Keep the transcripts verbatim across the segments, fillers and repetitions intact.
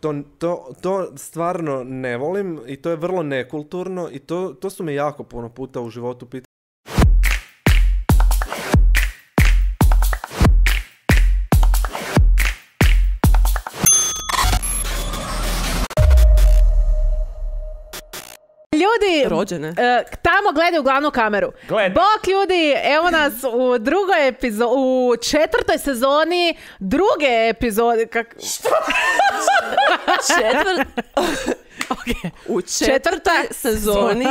To, to, to stvarno ne volim i to je vrlo nekulturno i to, to su me jako puno puta u životu pitali. Ljudi, rođene. Uh, tamo gledaju glavnu kameru. Gled. Bok ljudi, evo nas u drugoj epizodi, u četvrtoj sezoni druge epizode. Kak... Što? Četvrt... okay. U četvrtoj sezoni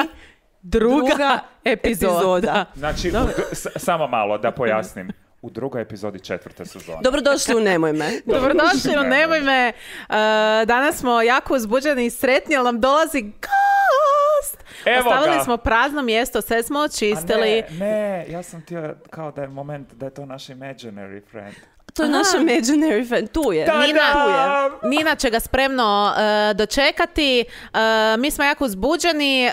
druga, druga epizoda. epizoda. Znači, u, s, samo malo da pojasnim. U drugoj epizodi četvrte sezone. Dobrodošli u Nemoj me. Dobrodošli u Nemoj me. Uh, danas smo jako uzbuđeni i sretni, ali nam dolazi gost. Evo Ostavili ga. smo prazno mjesto, sve smo očistili. A ne, ne, ja sam htio kao da je moment da je to naš imaginary friend. To je naš imaginary friend, tu je. Da, Nina, da. Nina će ga spremno uh, dočekati. Uh, mi smo jako uzbuđeni.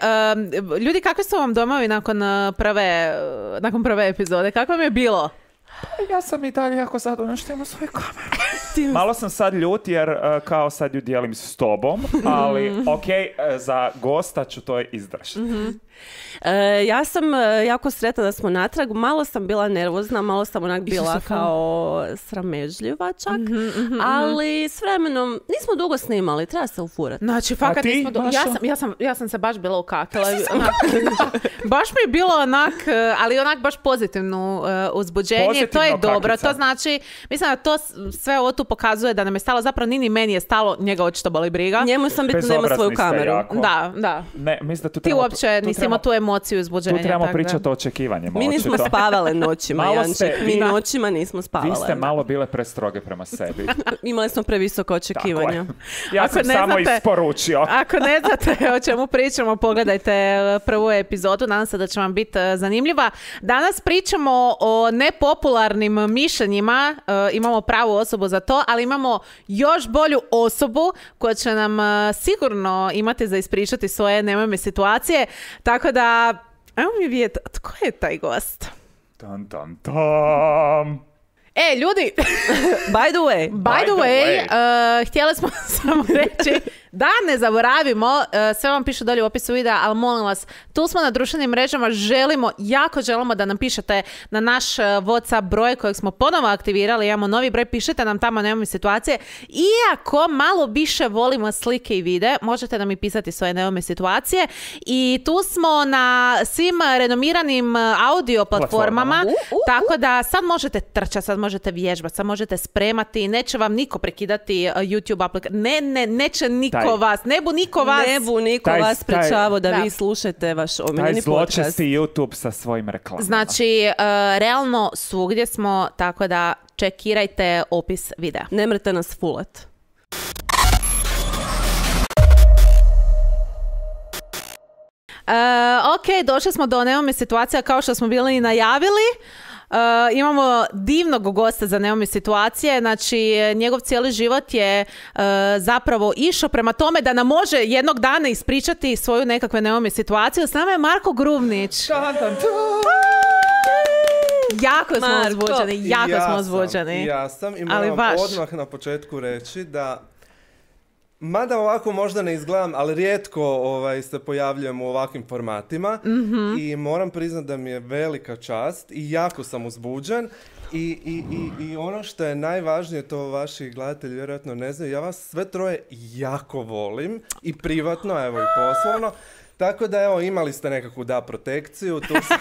Uh, ljudi, kakvi su vam domovi nakon uh, prve, uh, nakon prve epizode? Kako vam je bilo? Ja sam i dalje jako zadovoljna što imam svoju kameru. Malo sam sad ljut jer uh, kao sad ju dijelim s tobom, ali ok, uh, za gosta ću to izdržati. Mm-hmm. E, ja sam e, jako sretna da smo natrag. Malo sam bila nervozna, malo sam onak bila kao sramežljiva čak, mm-hmm, mm-hmm. ali s vremenom nismo dugo snimali, treba se ufurati. Znači, fakat ti, nismo... Do... Mašo? Ja sam, ja, sam, ja sam se baš bila ukakala. Baš mi je bilo onak, ali onak baš pozitivno uh, uzbuđenje. Pozitivno to je dobro. kakica. To znači, mislim da to sve ovo tu pokazuje da nam je stalo, zapravo Nini meni je stalo, njega očito boli briga. Njemu sam bitno da ima svoju kameru. Jako. Da, da. Ne, mislim da tu Ti trebamo, uopće tu nisi trebamo, imao tu emociju uzbuđenja. Tu trebamo tak, pričati da. o očekivanjima. Mi nismo očito. spavale noćima, Malo Janček. ste- Mi da. noćima nismo spavale. Vi ste malo bile prestroge prema sebi. Imali smo previsoka očekivanja. Ja Ako sam ne samo znate- isporučio. Ako ne znate o čemu pričamo, pogledajte prvu epizodu, nadam se da će vam biti zanimljiva. Danas pričamo o nepopularnim mišljenjima, e, imamo pravu osobu za to, ali imamo još bolju osobu koja će nam e, sigurno imati za ispričati svoje nemojme situacije, tako da, evo mi vidjeti, tko je taj gost? Tan, tan, tam. E, ljudi, By the way. by the way, uh, htjeli smo samo reći da ne zaboravimo, uh, sve vam piše dolje u opisu videa, ali molim vas, tu smo na društvenim mrežama, želimo, jako želimo da nam pišete na naš uh, WhatsApp broj kojeg smo ponovo aktivirali, imamo novi broj, pišite nam tamo, nemamo situacije. Iako malo više volimo slike i videe, možete nam i pisati svoje nemamo situacije i tu smo na svim renomiranim uh, audio platformama, Uh, uh, uh. tako da sad možete trčati, sad možete vježbati, sad možete spremati, neće vam niko prekidati uh, YouTube aplikaciju, ne, ne, neće niko Taj- vas, ne bu niko vas. Ne bu niko Taj- vas sprečavao da, Da. vi slušate vaš Taj omiljeni podcast. zločesti YouTube sa svojim reklamama. Znači, uh, realno svugdje smo, tako da čekirajte opis videa. Ne mrete nas fulat. Uh, ok, došli smo do nemoj me situacija kao što smo bili i najavili. Uh, imamo divnog gosta za nemoj me situacije, znači njegov cijeli život je uh, zapravo išao prema tome da nam može jednog dana ispričati svoju nekakve nemoj me situacije. S nama je Marko Grubnić. Tan, tan, tan. Jako smo Marko. uzbuđeni, jako Ja smo sam, uzbuđeni. Ja sam i Ali moram baš. odmah na početku reći da mada ovako možda ne izgledam, ali rijetko ovaj, se pojavljujem u ovakvim formatima mm-hmm. i moram priznati da mi je velika čast i jako sam uzbuđen i, i, i, i ono što je najvažnije, to vaši gledatelji vjerojatno ne znaju, ja vas sve troje jako volim i privatno, evo i poslovno. Tako da, evo, imali ste nekakvu da protekciju, tu sam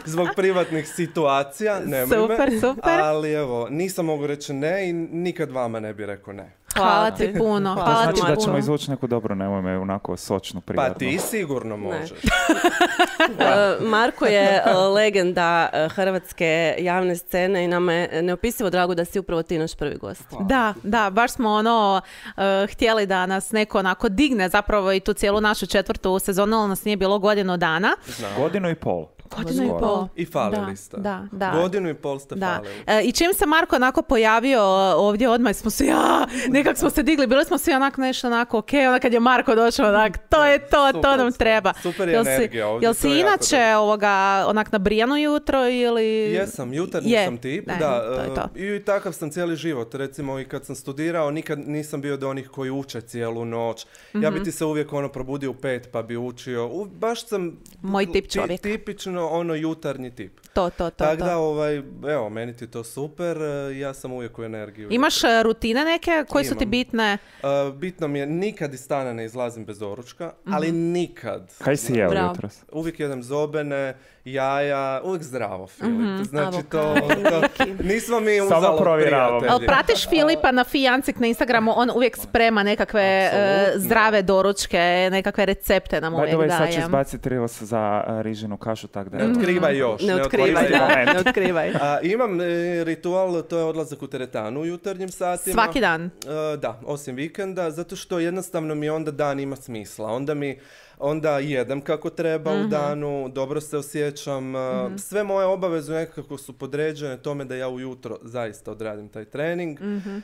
zbog privatnih situacija, nemoj me. Super, super. Ali evo, nisam mogu reći ne i nikad vama ne bi rekao ne. Hvala ti puno, Hvala. hvala Znači ti da ćemo puno. izvući neku dobru nemoj me onako sočnu privatnu. Pa ti sigurno možeš. Uh, Marko je uh, legenda uh, hrvatske javne scene i nama je neopisivo drago da si upravo ti naš prvi gost. Da, da, baš smo ono uh, htjeli da nas neko onako digne zapravo i tu cijelu našu četvrtu sezonu, ali nas nije bilo godinu dana. Godinu i pol. Godinu i Skoro. pol. I falili Da, ste. da, da. Godinu i pol ste Da. falili. E, I čim se Marko onako pojavio ovdje, odmah smo se, ja, nekak smo se digli, bili smo svi onako nešto onako, ok, onda kad je Marko došao, onak, to je to, to Super nam ste. treba. Super je Jel si- energija ovdje, Jel to si je jako inače dobro. ovoga, onak nabrijano jutro ili... Jesam, jutarnji Je. sam tip, Ne, da. to je to. e, I takav sam cijeli život. Recimo i kad sam studirao, nikad nisam bio od onih koji uče cijelu noć. Ja Mhm. bi ti se uvijek ono probudio u pet pa bi učio. U, baš sam Moj tip ti- čovjek. tipično ono jutarnji tip. To, to, to. Tako to. da, ovaj, evo, meni ti je to super, e, ja sam uvijek u energiju. Imaš e, rutine neke koje su ti Imam. bitne? E, bitno mi je, nikad iz stana ne izlazim bez doručka, ali Mhm. nikad. Kaj si jeo Bravo. jutros? Uvijek jedem zobene, jaja, uvijek zdravo, Filip. Mhm. Znači to, Avokado. to, nismo mi Samo uzalo provjeravam. prijatelji. Jel pratiš Filipa na Fijancik na Instagramu, on uvijek sprema nekakve e, Apsolutno. zdrave doručke, nekakve recepte nam By the uvijek way, sad ću daje. izbaciti reels za uh, rižinu kašu, tak da... Ne otkrivaj još. Ne otkrivaj, otkrivaj. da, ne otkrivaj. A, imam e, ritual, to je odlazak u teretanu u jutarnjim satima. Svaki dan. E, da, osim vikenda, zato što jednostavno mi onda dan ima smisla. Onda mi onda jedem kako treba u danu, dobro se osjećam. e, Sve moje obaveze nekako su podređene tome da ja ujutro zaista odradim taj trening. E,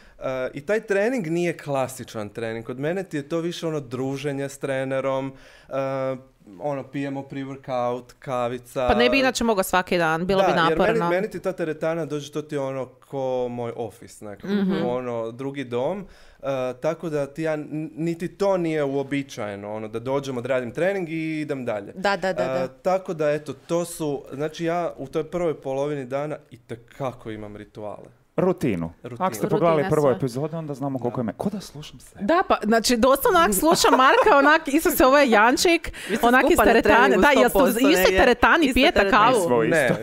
I taj trening nije klasičan trening. Kod mene ti je to više ono druženje s trenerom, e, ono pijemo pre-workout, kavica. Pa ne bi inače mogao svaki dan, bilo da, bi naporno. jer meni, meni ti ta teretana dođe, to ti je ono ko moj office nekako, ono drugi dom. Uh, tako da ti ja, n- niti to nije uobičajeno, ono da dođem, odradim trening i idem dalje. Da, da, da, da. Uh, tako da eto, to su, znači ja u toj prvoj polovini dana itekako imam rituale. Rutinu. Rutinu. Ako ste pogledali Rutine prvu sve. epizodu, onda znamo koliko ima. Ko da slušam se? Da, pa, znači, doslovno onak slušam Marka, onak, Isuse, ovo je Jančik, Vi ste onak iz skupa na teretane. treningu, Da, jel ste u sto posto istoj negdje. teretani, Ista pijete teretana. kavu? Nismo isto.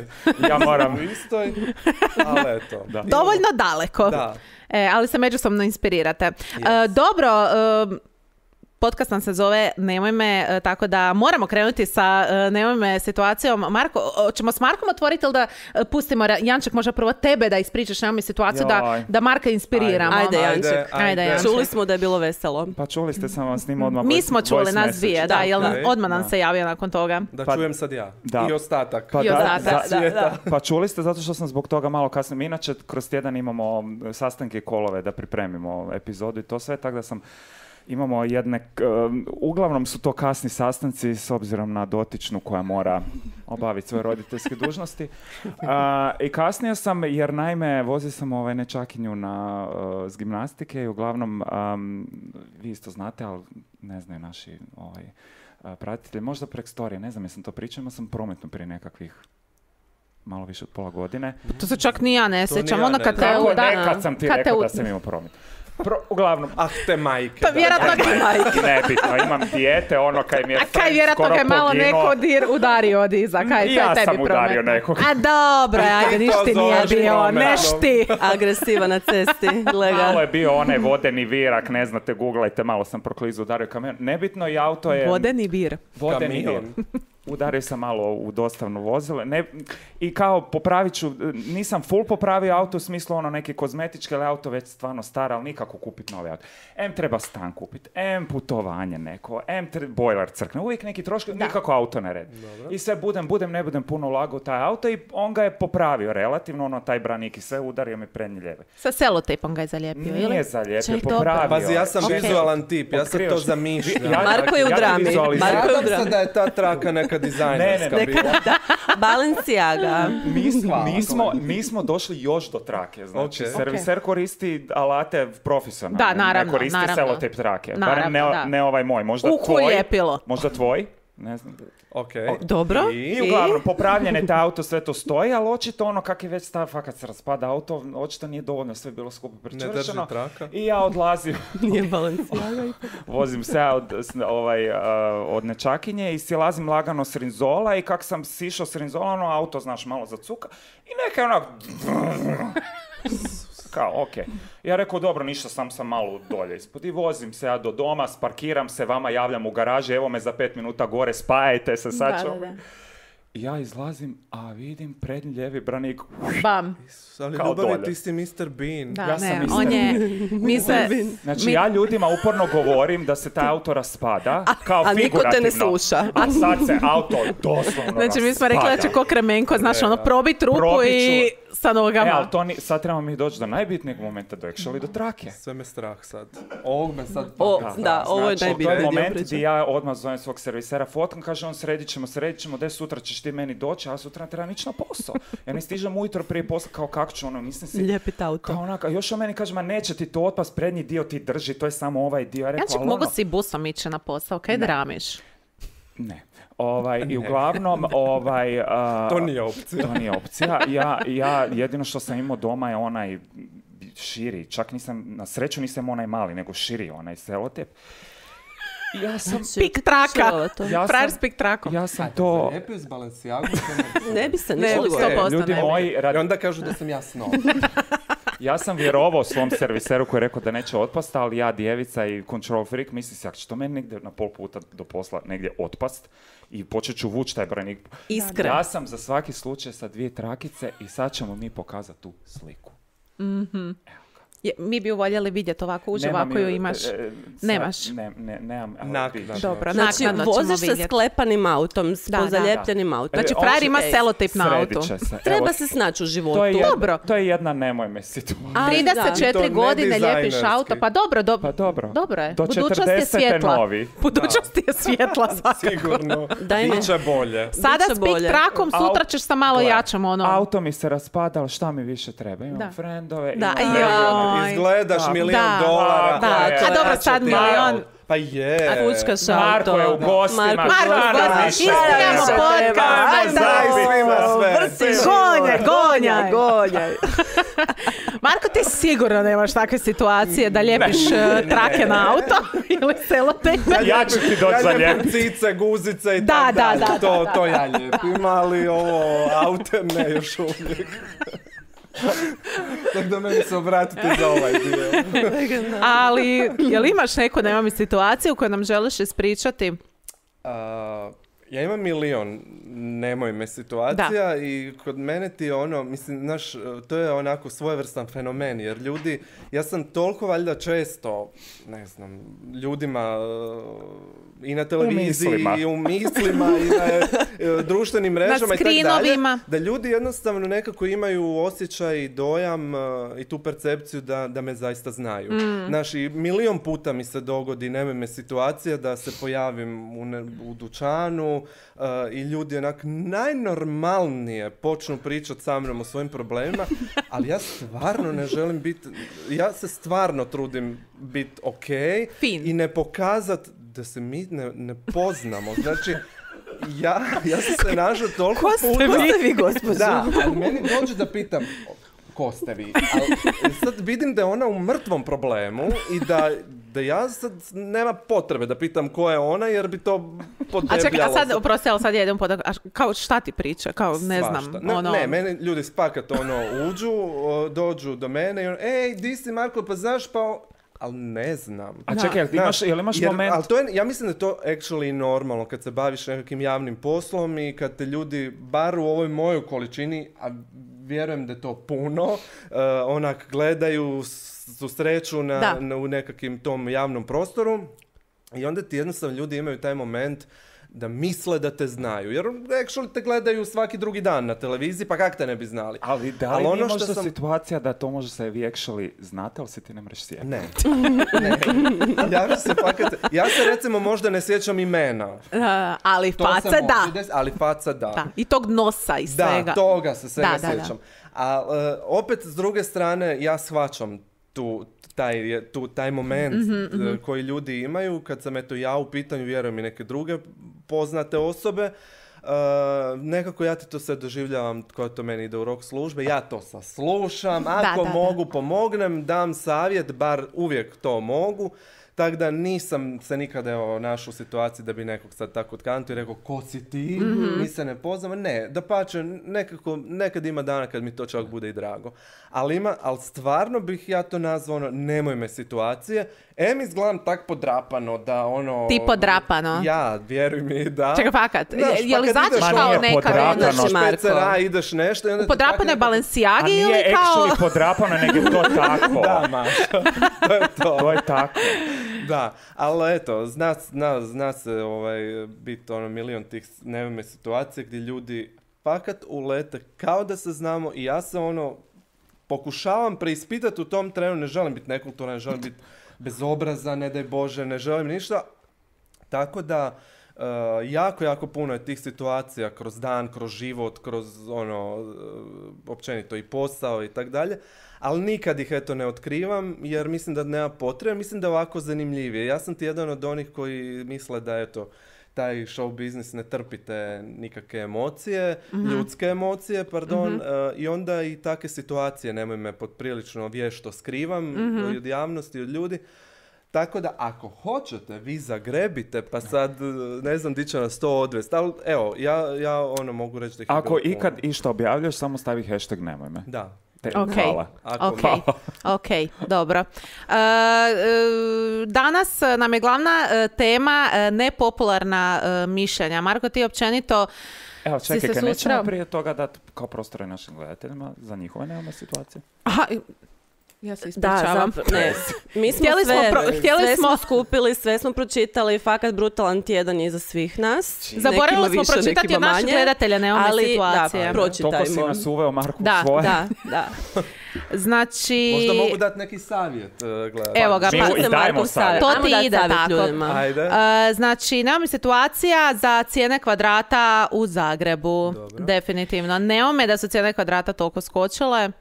Ne, Ja moram... u istoj, ali eto. Da. Dovoljno daleko. Da. E, ali se međusobno inspirirate. E, dobro, e, podcast nam se zove Nemoj me, e, tako da moramo krenuti sa e, Nemoj me situacijom. Marko, o, ćemo s Markom otvoriti ili da e, pustimo, Ra- Janček, možda prvo tebe da ispričaš Nemoj me situaciju, da, Joj. da Marka inspiriramo. Ajde, Janček. Ajde, Ajde, ajde. Janček. Čuli smo da je bilo veselo. Pa čuli ste, sam vam snimao odmah Mi voice- smo čuli, voice nas message. dvije, da, Da, jel da. odmah nam Da. se javio nakon toga. Da Pa- čujem sad ja. Da. I ostatak. Pa I da, ostatak, za- da, da. Pa čuli ste zato što sam zbog toga malo kasnije. Mi inače kroz tjedan imamo sastanke i kolove da pripremimo epizodu i to sve, tako da sam imamo jedne, k- uglavnom su to kasni sastanci s obzirom na dotičnu koja mora obaviti svoje roditeljske dužnosti. A, I kasnije sam, jer naime vozio sam ovaj nečakinju na, uh, s gimnastike i uglavnom, um, vi isto znate, ali ne znaju naši ovaj, uh, pratitelji, možda prek storije, ne znam jesam to pričao, imao sam prometnu prije nekakvih malo više od pola godine. To se čak ni ja ne To ni sjećam. ja Ono ne kad te znam. Kako uda- ne, kad sam ti kad te rekao u- da sam imao promet. Pro, uglavnom, Ah, te majke. Pa da. vjerojatno ga, nebitno, imam dijete, ono kaj mi je a kaj friend vjerojatno skoro ga je malo poginuo. neko dir, udario od iza. Kaj, to je Ja tebi sam udario prometno. nekog. A dobro, ajde, ti niš to ti nije zoveš bio, prometnom. neš ti. Agresiva na cesti, gleda. Malo je bio onaj vodeni virak, ne znate, googlajte, malo sam proklizu, udario kamion. Nebitno, i auto je... Vodeni vir. Vodeni Kamion. vir. Udario sam malo u dostavno vozilo. Ne, I kao popravit ću, nisam full popravio auto u smislu ono neke kozmetičke, ali auto već stvarno star, ali nikako kupiti novi auto. M treba stan kupiti, M putovanje neko, M tre- bojler crkne, uvijek neki troškovi, nikako auto ne redi. I sve budem, budem, ne budem puno ulagao u taj auto i on ga je popravio relativno, ono taj branik i sve, udario mi prednji lijeve. Sa selotejpom ga je zalijepio, ili? Nije zalijepio, Ček, dobro. popravio. Pazi, ja sam Ok. vizualan tip, ja sam to Otkrivaš- zamišljam. Ja- Marko je u ja drami. vizualiziram. Marko je u Nadam se drami. da je ta traka neka dizajnerska Ne, ne, bila. Da, Balenciaga. Mi, s- Hvala, mi, smo, mi smo došli još do trake, znači Ok. serviser koristi alate profesionalno, Da, naravno, ne koristi naravno. selotejp trake, barem Naravno, ne, da. ne ovaj moj, možda Uhu, tvoj, lijepilo. možda tvoj, ne znam. Ok. Dobro. I? I uglavnom, popravljene te auto, sve to stoji, ali očito ono kak je već stav, fakat se raspada auto, očito nije dovoljno sve bilo skupo Ne pričvršeno. drži traka. I ja odlazim, Nije Balenciaga. vozim se ja od, s- ovaj, uh, od nečakinje i silazim lagano s rinzola i kak sam sišao s rinzola, ono auto, znaš, malo zacuka i neka je onak... Kao, okej. Ja rekao, dobro, ništa, sam sam malo dolje ispod i vozim se ja do doma, sparkiram se, vama javljam u garaži, evo me za pet minuta gore, spajajte se, sad Da, ću... da, da. ja izlazim, a vidim prednji lijevi branik. Bam. Ali Kao ljubavi, dolje. ti si mister Bean. Da, Ja sam ne, mister on je... Mi se... Znači, mi- ja ljudima uporno govorim da se taj auto raspada, kao a niko te ne figurativno. sluša. A sad se auto doslovno Znači, mi smo rekli da će raspada. ko Kremenko, znaš, ono, probit rupu Probit i ću. sa nogama. E, ali to ni, sad trebamo mi doći do najbitnijeg momenta, do actually do trake. Sve me strah sad. Ovog me sad... O, paka. da, ovo je Znači, najbitniji to je dio moment priče. gdje ja odmah zovem svog servisera fotkam, kaže on sredit ćemo, sredit ćemo, de sutra ćeš ti meni doći, a ja sutra ne trebam ići na posao. Ja ne stižem ujutro prije posla, kao kako ću, ono, nisam si... Lijepit auto. Kao onaka, još on meni kaže, ma neće ti to otpast, prednji dio ti drži, to je samo ovaj dio. Ja rekao, Znači, ali mogu ono- si busom ići na posao, kaj dramiš? Ne. Ovaj, i uglavnom, ovaj... a, To nije opcija. To nije opcija. Ja, ja jedino što sam imao doma je onaj širi, čak nisam, na sreću nisam onaj mali, nego širi onaj selotep. I ja sam, Pik traka. Ovo to. Ja Frajer sam- s pik trakom. ja sam to... Zalijepio s Balenciagom. Ne bi se Ne, ništa sto dogodilo. posto. Ljudi ne bi. moji, rad- I onda kažu da sam ja snob. ja sam vjerovao svom serviseru koji je rekao da neće otpast, ali ja djevica i control freak misli se, ako će to meni negdje na pol puta do posla negdje otpast i počet ću vući taj branik. Iskren. Ja sam za svaki slučaj sa dvije trakice i sad ćemo mi pokazati tu sliku. Je, mi bi ju voljeli vidjeti ovako uživo, Nemam ako ju ju, imaš. e, e, sad Nemaš. Ne, ne, nemam. ali Naknadno. vidiš. Dobro, Znači, naknadno ćemo voziš se vidjeti. sklepanim autom, s Da, da. pozaljepljenim autom. Znači, E, frajer on- ima ej, selotip na Sredit autu. će se. Treba Evo, se snaći u životu. to je jedna, Dobro. To je jedna nemoj me situacija. Ali trideset da. četiri I to godine ne lijepiš auto, dizajnerski. pa dobro, do, Pa dobro. dobro je. Do Budućnost je četrdesete svjetla. novi. Budućnost je svjetla svakako. Sigurno. Daj mi. Biće bolje. Sada Biće s pik bolje. trakom, sutra Au- ćeš sa malo Gle, jačom, ono. Auto mi se raspada, ali šta mi više treba? Imam Da. frendove, Da, imam... joj. Izgledaš Da. milion Da. dolara. Da, pa je, a dobro, vraća sad ti milion. auto. Pa je. A fučkaš auto. Marko je u gostima. Marko, šta Marko, nam Marko, više ispravljamo treba? podcast. Ajmo Ajde. Daj zajedno. svima sve. Vrti, Gonjaj, gonjaj. gonjaj. Marko, ti sigurno nemaš takve situacije da lijepiš uh, trake na auto ili selotepe. Ja ću ti doći za Ja lijepim ljep. cice, guzice i Da, tak da, dalje. da, To, da, to ja lijepim, ali ovo aute ne još uvijek. Tako da meni se obratite za ovaj dio. Ali, jel imaš neku, nema mi situaciju koju nam želiš ispričati? A, ja imam milion nemoj me situacija i kod mene ti je ono, mislim, znaš, to je onako svojevrstan fenomen, jer ljudi, ja sam toliko valjda često, ne znam, ljudima uh, i na televiziji mislima. i u mislima i na uh, društvenim mrežama i tako dalje, skrinovima. da ljudi jednostavno nekako imaju osjećaj i dojam uh, i tu percepciju da, da me zaista znaju. Znaš, i milion puta mi se dogodi, nema me situacija da se pojavim u, ne, u dućanu uh, i ljudi onak najnormalnije počnu pričati sa mnom o svojim problemima, ali ja stvarno ne želim biti, ja se stvarno trudim biti okej Fin. i ne pokazat da se mi ne, ne poznamo. Znači, ja, ja sam se našao toliko Ko ste puta... vi? vi, gospođo? Da, ali meni dođe da pitam ko ste vi. Ali sad vidim da je ona u mrtvom problemu i da, da ja sad nema potrebe da pitam ko je ona jer bi to podebljalo. A čekaj, a sad, za- oprosti, ali sad ja idem podak, a kao šta ti priča? Kao, ne znam, Svašta. Ne, ono... ne, meni ljudi spakat ono uđu, o, dođu do mene i ono, ej, di si Marko, pa znaš pa... o-" Ali ne znam. A Da. čekaj, jel ti imaš, Znaš, jel imaš jer- moment... Ali to je, ja mislim da je to actually normalno kad se baviš nekakvim javnim poslom i kad te ljudi, bar u ovoj mojoj količini, a vjerujem da je to puno, uh, onak gledaju, s- susreću na, Da. na, u nekakvim tom javnom prostoru i onda ti jednostavno ljudi imaju taj moment da misle da te znaju. Jer actually te gledaju svaki drugi dan na televiziji, pa kak te ne bi znali? Ali da li Ali nije ono što možda sam- situacija da to može se vi actually znate, ali se ti ne mreš sjetiti? Ne. ne. Ja, se fakat, ja se recimo možda ne sjećam imena. Uh, ali To se face može da. desiti, ali faca da. Da. I tog nosa i svega. Da, toga se svega Da, da, da. sjećam. A e, opet s druge strane ja shvaćam tu taj, je- tu, taj moment Mhm, e, koji ljudi imaju kad sam eto ja u pitanju, vjerujem i neke druge poznate osobe. E, nekako ja ti to sve doživljavam koja to meni ide u rok službe, ja to saslušam, ako da, da. mogu pomognem, dam savjet, bar uvijek to mogu. Tako da nisam se nikada evo, našao u situaciji da bi nekog sad tako otkantio i rekao ko si ti, mm-hmm. mi se ne poznamo. Ne, da pače, nekako, nekad ima dana kad mi to čak bude i drago. Ali ima, ali stvarno bih ja to nazvao ono, nemoj me situacije. Em izgledam tak podrapano da ono... Ti podrapano? Ja, vjeruj mi da... Čekaj, fakat, Znaš, je li pa znači ideš, kao nije neka... podrapano. Ideš špecera, ideš nešto... I onda U podrapanoj tako... Balenciagi A ili nije kao... actually podrapano, nego je to tako. Da, Maša, to je to. To je tako. Da, ali eto, zna, zna, zna se ovaj, biti ono milion tih nevime situacije gdje ljudi fakat ulete kao da se znamo i ja se ono pokušavam preispitati u tom trenu, ne želim biti nekulturan, ne želim biti bezobrazan, ne daj Bože, ne želim ništa. Tako da uh, jako, jako puno je tih situacija kroz dan, kroz život, kroz ono, uh, općenito i posao i tak dalje. Ali nikad ih eto ne otkrivam jer mislim da nema potrebe, mislim da je ovako zanimljivije. Ja sam ti jedan od onih koji misle da eto, taj show biznis ne trpite nikakve emocije, mm-hmm. ljudske emocije, pardon, mm-hmm. uh, i onda i takve situacije nemoj me poprilično vješto skrivam mm-hmm. od javnosti, od ljudi. Tako da ako hoćete, vi zagrebite, pa sad ne znam di će nas to odvesti. Ali evo, ja, ja ono mogu reći da ih je Ako bilo ikad puno. išta objavljaš, samo stavi hashtag nemoj me. Da. Te, Ok, hvala. Ako ok, vi- ok, dobro. E, e, danas nam je glavna e, tema e, nepopularna e, mišljenja. Marko, ti općenito Evo, si čekaj, se kad nećemo susreo? prije toga dati kao prostore našim gledateljima za njihove nemamo situacije? Aha, ja se Da, ispričavam. zapravo, ne. Mi smo Htjeli smo sve, pro- htjeli sve smo- smo skupili, sve smo pročitali, fakat brutalan tjedan je za svih nas. Zaboravili Nekima smo više, pročitati nekima od naših manje, gledatelja, nemamo ali, situacije. Da, Toliko si pročitajmo. nas uveo, Marku, Da, svoje. Da, da. Znači... Možda mogu dati neki savjet, uh, gledajte. Evo ga, Mi pa- i dajemo Markov savjet. To Ajmo ti dati ide savjet tako. ljudima. Ajde. E, znači, nemamo situacija za cijene kvadrata u Zagrebu. Dobro. Definitivno. Nemamo da su cijene kvadrata toliko skočile.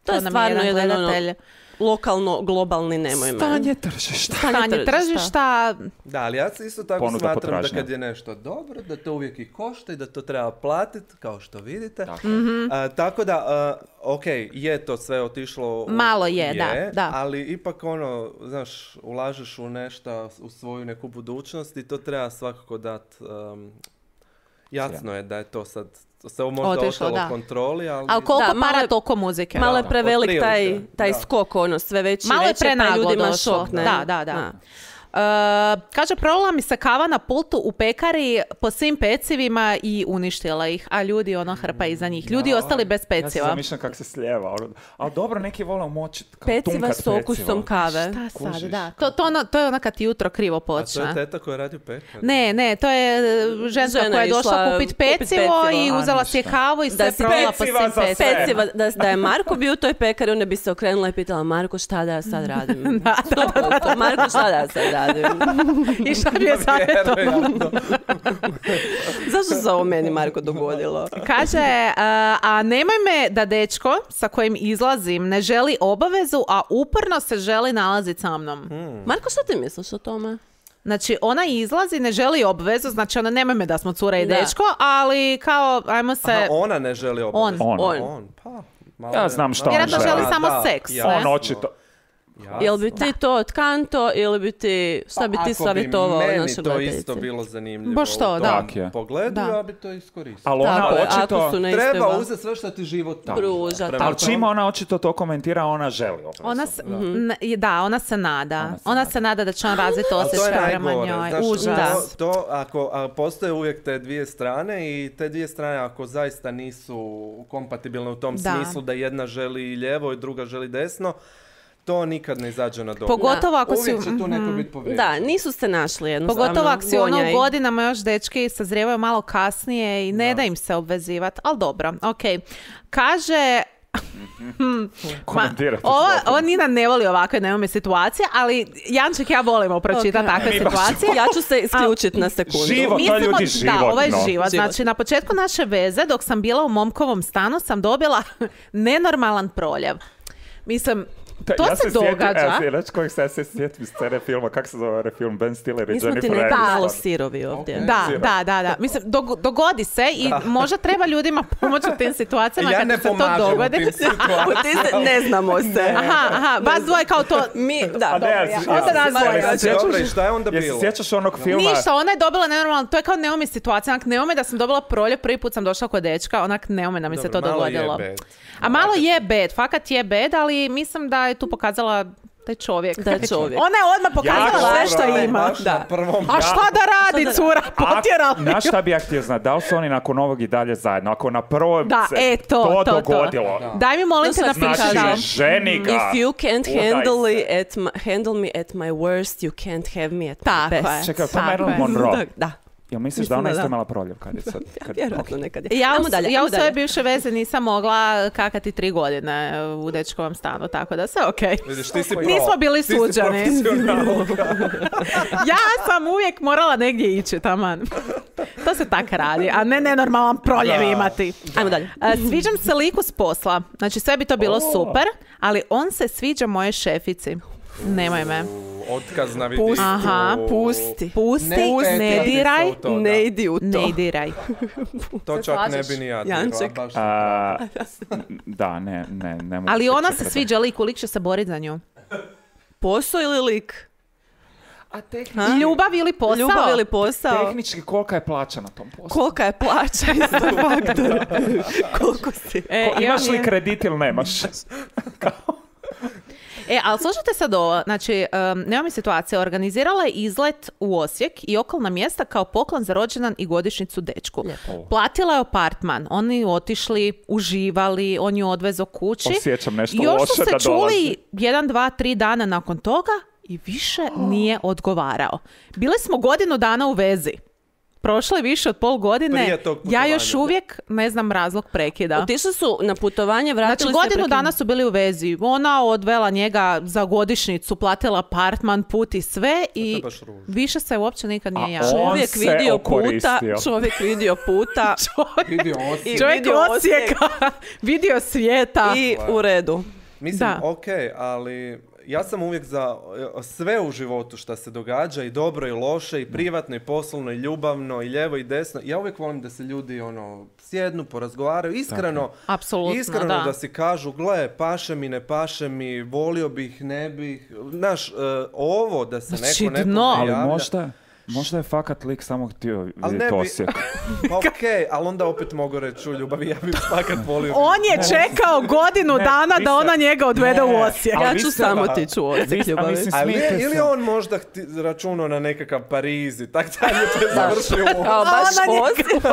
To je nam stvarno jedan ono, gledatelj. lokalno, globalni nemoj me. Stanje tržišta. Stanje tržišta. Da, ali ja se isto tako Ponuda, smatram potražnja. da kad je nešto dobro, da to uvijek i košta i da to treba platiti, kao što vidite. Tako. Mhm. A, tako da, a, ok, je to sve otišlo... u- Malo je, da, da. Ali ipak ono, znaš, ulažeš u nešto, u svoju neku budućnost i to treba svakako dati... Um, jasno je da je to sad, se ovo možda Otišlo, ostalo da. u kontroli, ali... Ali koliko Da, malo para, je- toliko muzike. Malo je Da, prevelik otprilike, taj, taj da. skok, ono, sve veći, Malo je veće, pa prenaglo ljudima došlo. šok, ne? Da, da, da. Uh, kaže, prolila mi se kava na pultu u pekari po svim pecivima i uništila ih, a ljudi ono hrpa iza njih. Ljudi Ja, ostali bez Ja se peciva. zamišljam kako se slijeva. ono. Ali dobro, neki vole moći Peciva tunkat s okusom pecivo. kave. Šta sad, Kužiš. da. To, to, ono, to je ono kad ti jutro krivo A to počne. je teta koja radi u pekaru. Ne, ne, to je e, ženska Žena koja je je došla išla kupit kupit pecivo pecivo. i A, uzela si je ništa. kavu i sve si prolila po peciva svim za pecivima. sve. Peciva, da, da je Marko bio u toj pekari, onda bi se okrenula i pitala Marko šta da ja sad radim? Da, da, da, da. Marko šta da ja sad radim? I šta bi je savjetovao? Vjerojatno. Zašto se ovo meni Marko dogodilo? Kaže, a, a nemoj me da dečko sa kojim izlazim ne želi obavezu, a uporno se želi nalaziti sa mnom. Marko, što ti misliš o tome? Znači, ona izlazi, ne želi obvezu, znači ona nemoj me da smo cura i Da. dečko, ali kao, ajmo se... Aha, ona ne želi obavezno. On. On. On. On, pa... malo Ja je- znam šta malo- on Vjerojatno želi. želi samo Da, seks, jasno. ne? On očito... Jasno. Jel bi ti to od kanto ili bi ti, šta bi Pa ti ako savjetovao meni našoj to gledateljici? isto bilo zanimljivo Baš to, u da. tom Tak je. pogledu, Da. ja bi to iskoristio. Ali ona Tako je, očito... ako su na istoj Treba va- uzeti sve što ti život da. Pruža, Prema Ali tome- čim ona očito to komentira, ona želi obavezu. Ona se, n- da, ona se nada. Ona se Ona nada. se nada da će on razviti Ali to je osjećaj prema najgore. njoj. Znaš, Užas. to, to ako a postoje uvijek te dvije strane i te dvije strane ako zaista nisu kompatibilne u tom Da. smislu da jedna želi lijevo i druga želi desno, to nikad ne izađe na dobro. Pogotovo ako si... Uvijek će tu neko mhm. biti povrijeđen. Da, nisu se našli jednostavno. Pogotovo ako si ono Gonjaj. u godinama još dečki sazrijevaju malo kasnije i ne da, im se obvezivati. Ali dobro, ok. Kaže... Komentirati Ova, slobodno. ova Nina ne voli ovakve neume situacije, ali Janček ja volimo pročitati Ok. takve Mi baš situacije. Ja ću se isključiti na sekundu. Živo. to ljudi Da, životno. ovo je život. Život. Znači, na početku naše veze, dok sam bila u momkovom stanu, sam dobila nenormalan proljev. Mislim, Da, To ja se sjetim- događa. E, znaš kojeg se ja se sjetim scene filma, kako se zove ovaj film, Ben Stiller i Mi smo ti Jennifer nekako Aniston. malo sirovi ovdje. Ok. Da, Sira. da, da, da. Mislim, dog- dogodi se i možda treba ljudima pomoći u tim situacijama Ja kad ne se to pomažem u dogodi. tim situacijama. U ti se ne znamo se. Aha, aha, vas dvoje kao to... Mi, da, A dobro, ne, ja. jesi- Onda jesi- nas dvoje. jesi- Dobro, i sjećaš- šta je onda Jesi bilo? sjećaš onog filma? Ništa, ona je dobila nenormalno, to je kao Naomi situacija, onak Naomi da sam dobila proljev, prvi put sam došla kod dečka, onak Naomi da mi se to Dobro, malo je dogodilo. bad. A malo je bad, fakat je bad, ali mislim da je tu pokazala da je čovjek. Da je čovjek. Ona je odmah pokazala Ja, sve što Dobro, ima. baš Da. na prvom. A šta da radi, cura, A, potjerali. znaš šta bi ja htio znati? Da li su oni nakon ovog i dalje zajedno? Ako na prvom Da, se e, to, to, to. dogodilo. Da. Daj mi molim To te sad napiši. kažem. da. Znači, ženi ga. If you can't Udaj handle, se. it at my, handle me at my worst, you can't have me at my Tako best. je. Čekaj, to Tako Marilyn je. Monroe. Da, da. Jel misliš Mislim da ona da isto da. imala proljev kad je sad? Ja, Kad... vjerojatno nekad je. Ja, Ajmo u, dalje, ja ajmo u svoje dalje. bivše veze nisam mogla kakati tri godine u dečkovom stanu, tako da sve okej. Vidiš, ti si pro. Nismo bili Ti si suđeni. profesionalka. Ja sam uvijek morala negdje ići, taman. To se tak radi, a ne nenormalan proljev Da. imati. Ajmo dalje. A, sviđam se liku s posla. Znači sve bi to bilo super, ali on se sviđa moje šefici. Nemoj me. Otkaz na vidi. Pusti. Aha, Pusti. Pusti, Ne ne, petljati diraj, se u to, da. Ne idi u to. ne diraj. To Se čak ne slažeš? bi ni ja dirala, Janček. baš. A, da, ne, ne, ne mogu Ali se ona se čekati. sviđa liku, lik će se boriti za nju. Posao ili lik? A tehnički, Ha? Ljubav ili posao? Ljubav ili posao? tehnički kolika je plaća na tom poslu? Kolika je plaća isto faktor? Koliko si? E, Ko- imaš imam li je- kredit ili nemaš? E, ali slušajte sad ovo, znači, um, nema mi situacije, organizirala je izlet u Osijek i okolna mjesta kao poklon za rođendan i godišnjicu dečku. Lijepo. Platila je apartman, oni otišli, uživali, on ju odvezo kući. Osjećam nešto I još loše su se da čuli dolazi. jedan, dva, tri dana nakon toga i više nije odgovarao. Bili smo godinu dana u vezi. Prošlo je više od pol godine. Prije tog Ja putovanja, još da. uvijek ne znam razlog prekida. Otišli su na putovanje, vratili Znači, se godinu prekim- dana su bili u vezi. Ona odvela njega za godišnjicu, platila apartman, put i sve i baš ružno. više se uopće nikad nije A javio. on Čovjek se vidio puta, okoristio. čovjek vidio puta Vidio Osijek. I Čovjek vidio Osijeka, vidio svijeta. i u redu. Mislim, Da. ok, ali ja sam uvijek za e, sve u životu što se događa, i dobro i loše, i privatno i poslovno i ljubavno i lijevo i desno. Ja uvijek volim da se ljudi ono sjednu, porazgovaraju, iskreno, Apsolutno, iskreno da. da. si kažu, gle, paše mi, ne paše mi, volio bih, ne bih. Znaš, e, ovo da se Znači, neko dno. nekome Ali javlja. možda, možda je fakat lik samo htio Ali vidjeti ne bi, Osijek. pa okej, ali onda opet mogu reći u ljubavi, ja bih fakat volio. On je čekao godinu Ne, dana vi da se- ona njega odvede u Ne, Osijek. ali Ja vi ću ste- samo tići u Vi- Osijek, a ljubavi. mislim, Ali je, smijete ili se. je on možda hti, računao na nekakav Pariz i tak dalje, to je završio u... Kao baš A ona Osijek.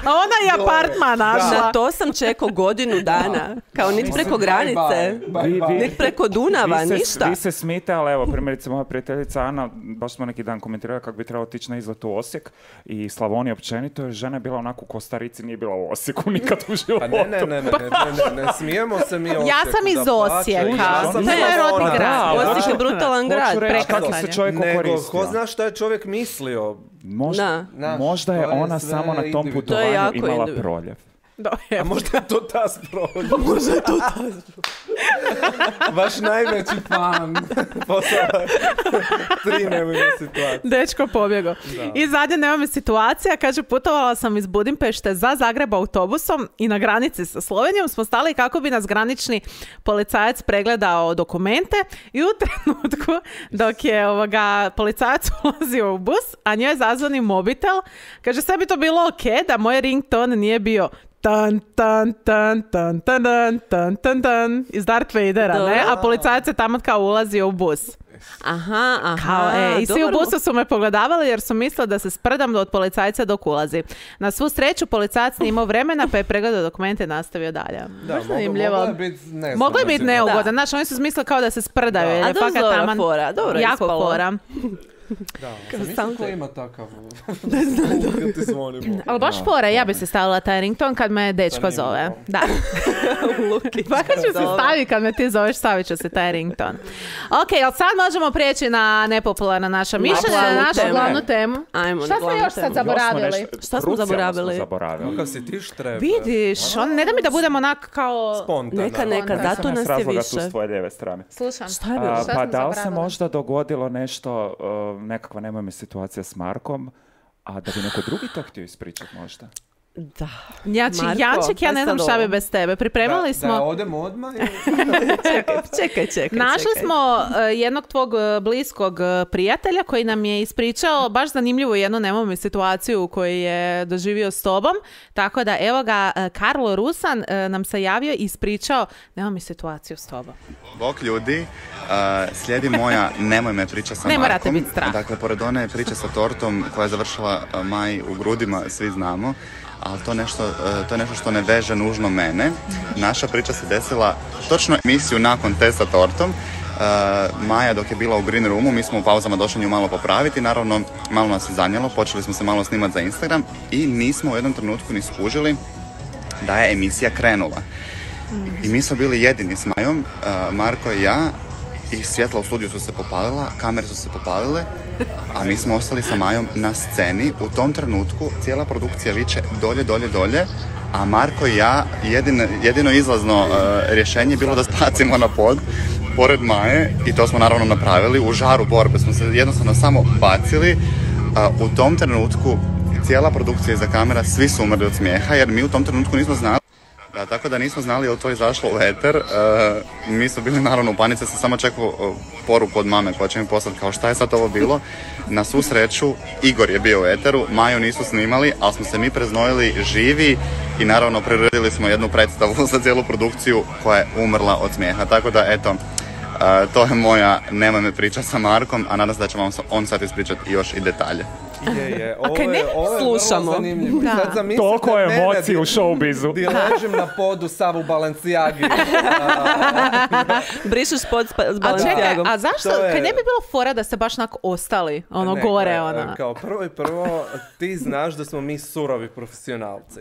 A ona je apartman našla. Na to sam čekao godinu dana. Kao niti preko granice, Vi- vi- niti preko Dunava, vi se, ništa. Vi se smijete, ali evo, primjerice moja prijateljica Ana, baš smo neki dan komentirali kako bi trebalo otići na izlet u Osijek i Slavonija općenito, jer žena je bila onako u Kostarici, nije bila u Osijeku nikad u životu. Pa ne, ne, ne, ne, ne, ne, ne, ne smijemo se mi Osijeku. Ja sam iz dapače, Osijeka. ja sam To je moj rodni Slavona. grad. Da, Osijek je brutalan grad. Hoću reći kako prekrasno se je. čovjek Nego, okoristio. ko zna šta je čovjek mislio? Možda, Da. Znaš, možda je to je ona sve samo na tom individualno. To je putovanju jako imala individualno. proljev. Da, A evo. možda je to ta sprolja. Možda je to ta Vaš najveći fan. Poslala tri nemojne situacije. Dečko pobjego. I zadnje nema mi situacija, kaže, putovala sam iz Budimpešte za Zagreb autobusom i na granici sa Slovenijom smo stali kako bi nas granični policajac pregledao dokumente i u trenutku dok je ovoga policajac ulazio u bus, a njoj je zazvoni mobitel, kaže, sve bi to bilo ok da moj rington nije bio tan, tan, tan, tan, tan, tan, tan, tan, tan, iz Darth Vadera, ne? A policajac je tamo kao ulazio u bus. Aha, aha. Kao, e, I svi u dobro. busu su me pogledavali jer su mislili da se sprdam od policajca dok ulazi. Na svu sreću policajac nije imao vremena pa je pregledao dokumente i nastavio dalje. Da, Baš moglo, zanimljivo. moglo je biti nezgodno. Moglo je biti neugodan, Da. znači oni su mislili kao da se sprdaju. jer A je dobro, fakat dobra taman fora, dobro je jako ispalo. fora. Da, Kao sam mislio sam ko te- ima takav... Ne znam. Kad ti zvonimo. Ali baš fora, ja bi se stavila taj rington kad me dečko Zanimljivo. zove. Da. Luki. Fakat ću se Dobro. staviti kad me ti zoveš, stavit ću se taj rington. Ok, ali sad možemo prijeći na nepopularna naša mišljenja, na našu temu. glavnu temu. Ajmo Šta na smo glavnu još sad temu. zaboravili? Još smo nešto- Šta smo krucijalno zaboravili? smo zaboravili. Kakav si ti štrebe? Vidiš, on, ne da mi da budemo onak kao... Spontano. Neka, neka, Onda. zato Sam nas s je razloga tu više. s tvoje lijeve strane. Slušam. Šta je bilo? A, Šta pa smo da li se zaboravili? možda dogodilo nešto, uh, nekakva nemoj mi situacija s Markom, a da bi neko drugi to htio ispričati možda? Da. Znači, Marko, Janček, ja pa ne znam sad šta bi ovo. bez tebe. Pripremali Da, smo... da odemo odmah ili... Čekaj, čekaj, čekaj. Našli čekaj. smo uh, jednog tvog uh, bliskog uh, prijatelja koji nam je ispričao baš zanimljivu jednu nemojme situaciju koju je doživio s tobom. Tako da evo ga, uh, Karlo Rusan uh, nam se javio i ispričao nemoj situaciju s tobom. Bok ljudi, uh, slijedi moja nemoj me priča sa Ne morate Markom. biti strah. Dakle, pored one priče sa tortom koja je završila uh, Maj u grudima, svi znamo, ali to, nešto, uh, to je nešto što ne veže nužno mene. Naša priča se desila točno emisiju nakon te sa tortom. Uh, Maja dok je bila u Green Roomu, mi smo u pauzama došli nju malo popraviti, naravno malo nas je zanijelo, počeli smo se malo snimati za Instagram i nismo u jednom trenutku ni skužili da je emisija krenula. I mi smo bili jedini s Majom, uh, Marko i ja, i svjetla u studiju su se popalila, kamere su se popalile, a mi smo ostali sa Majom na sceni. U tom trenutku cijela produkcija viče dolje, dolje, dolje, a Marko i ja, jedino, jedino izlazno uh, rješenje je bilo da spacimo na pod, pored Maje, i to smo naravno napravili. U žaru borbe smo se jednostavno samo bacili. Uh, u tom trenutku cijela produkcija iza kamera, svi su umrli od smijeha, jer mi u tom trenutku nismo znali. Da, tako da nismo znali je li to izašlo u eter. E, mi smo bili naravno u panici, sam samo čekao e, poruku od mame koja će mi poslati kao šta je sad ovo bilo. Na svu sreću Igor je bio u eteru, Maju nisu snimali, ali smo se mi preznojili živi i naravno priredili smo jednu predstavu za cijelu produkciju koja je umrla od smijeha. Tako da eto, e, to je moja nemoj me priča sa Markom, a nadam se da će vam on sad ispričati još i detalje. Je, je. Ovo kaj ne je, ovo je slušamo? vrlo zanimljivo. Da. Sad zamislite Toliko mene emocije di- u showbizu. Di ležim na podu Savu Balenciagi. Brišeš pod spa- s A čekaj, Balenciagom. a zašto? To je- Kaj ne bi bilo fora da ste baš onako ostali, ono Ne, gore, gle, ono. Kao prvo i prvo, ti znaš da smo mi surovi profesionalci.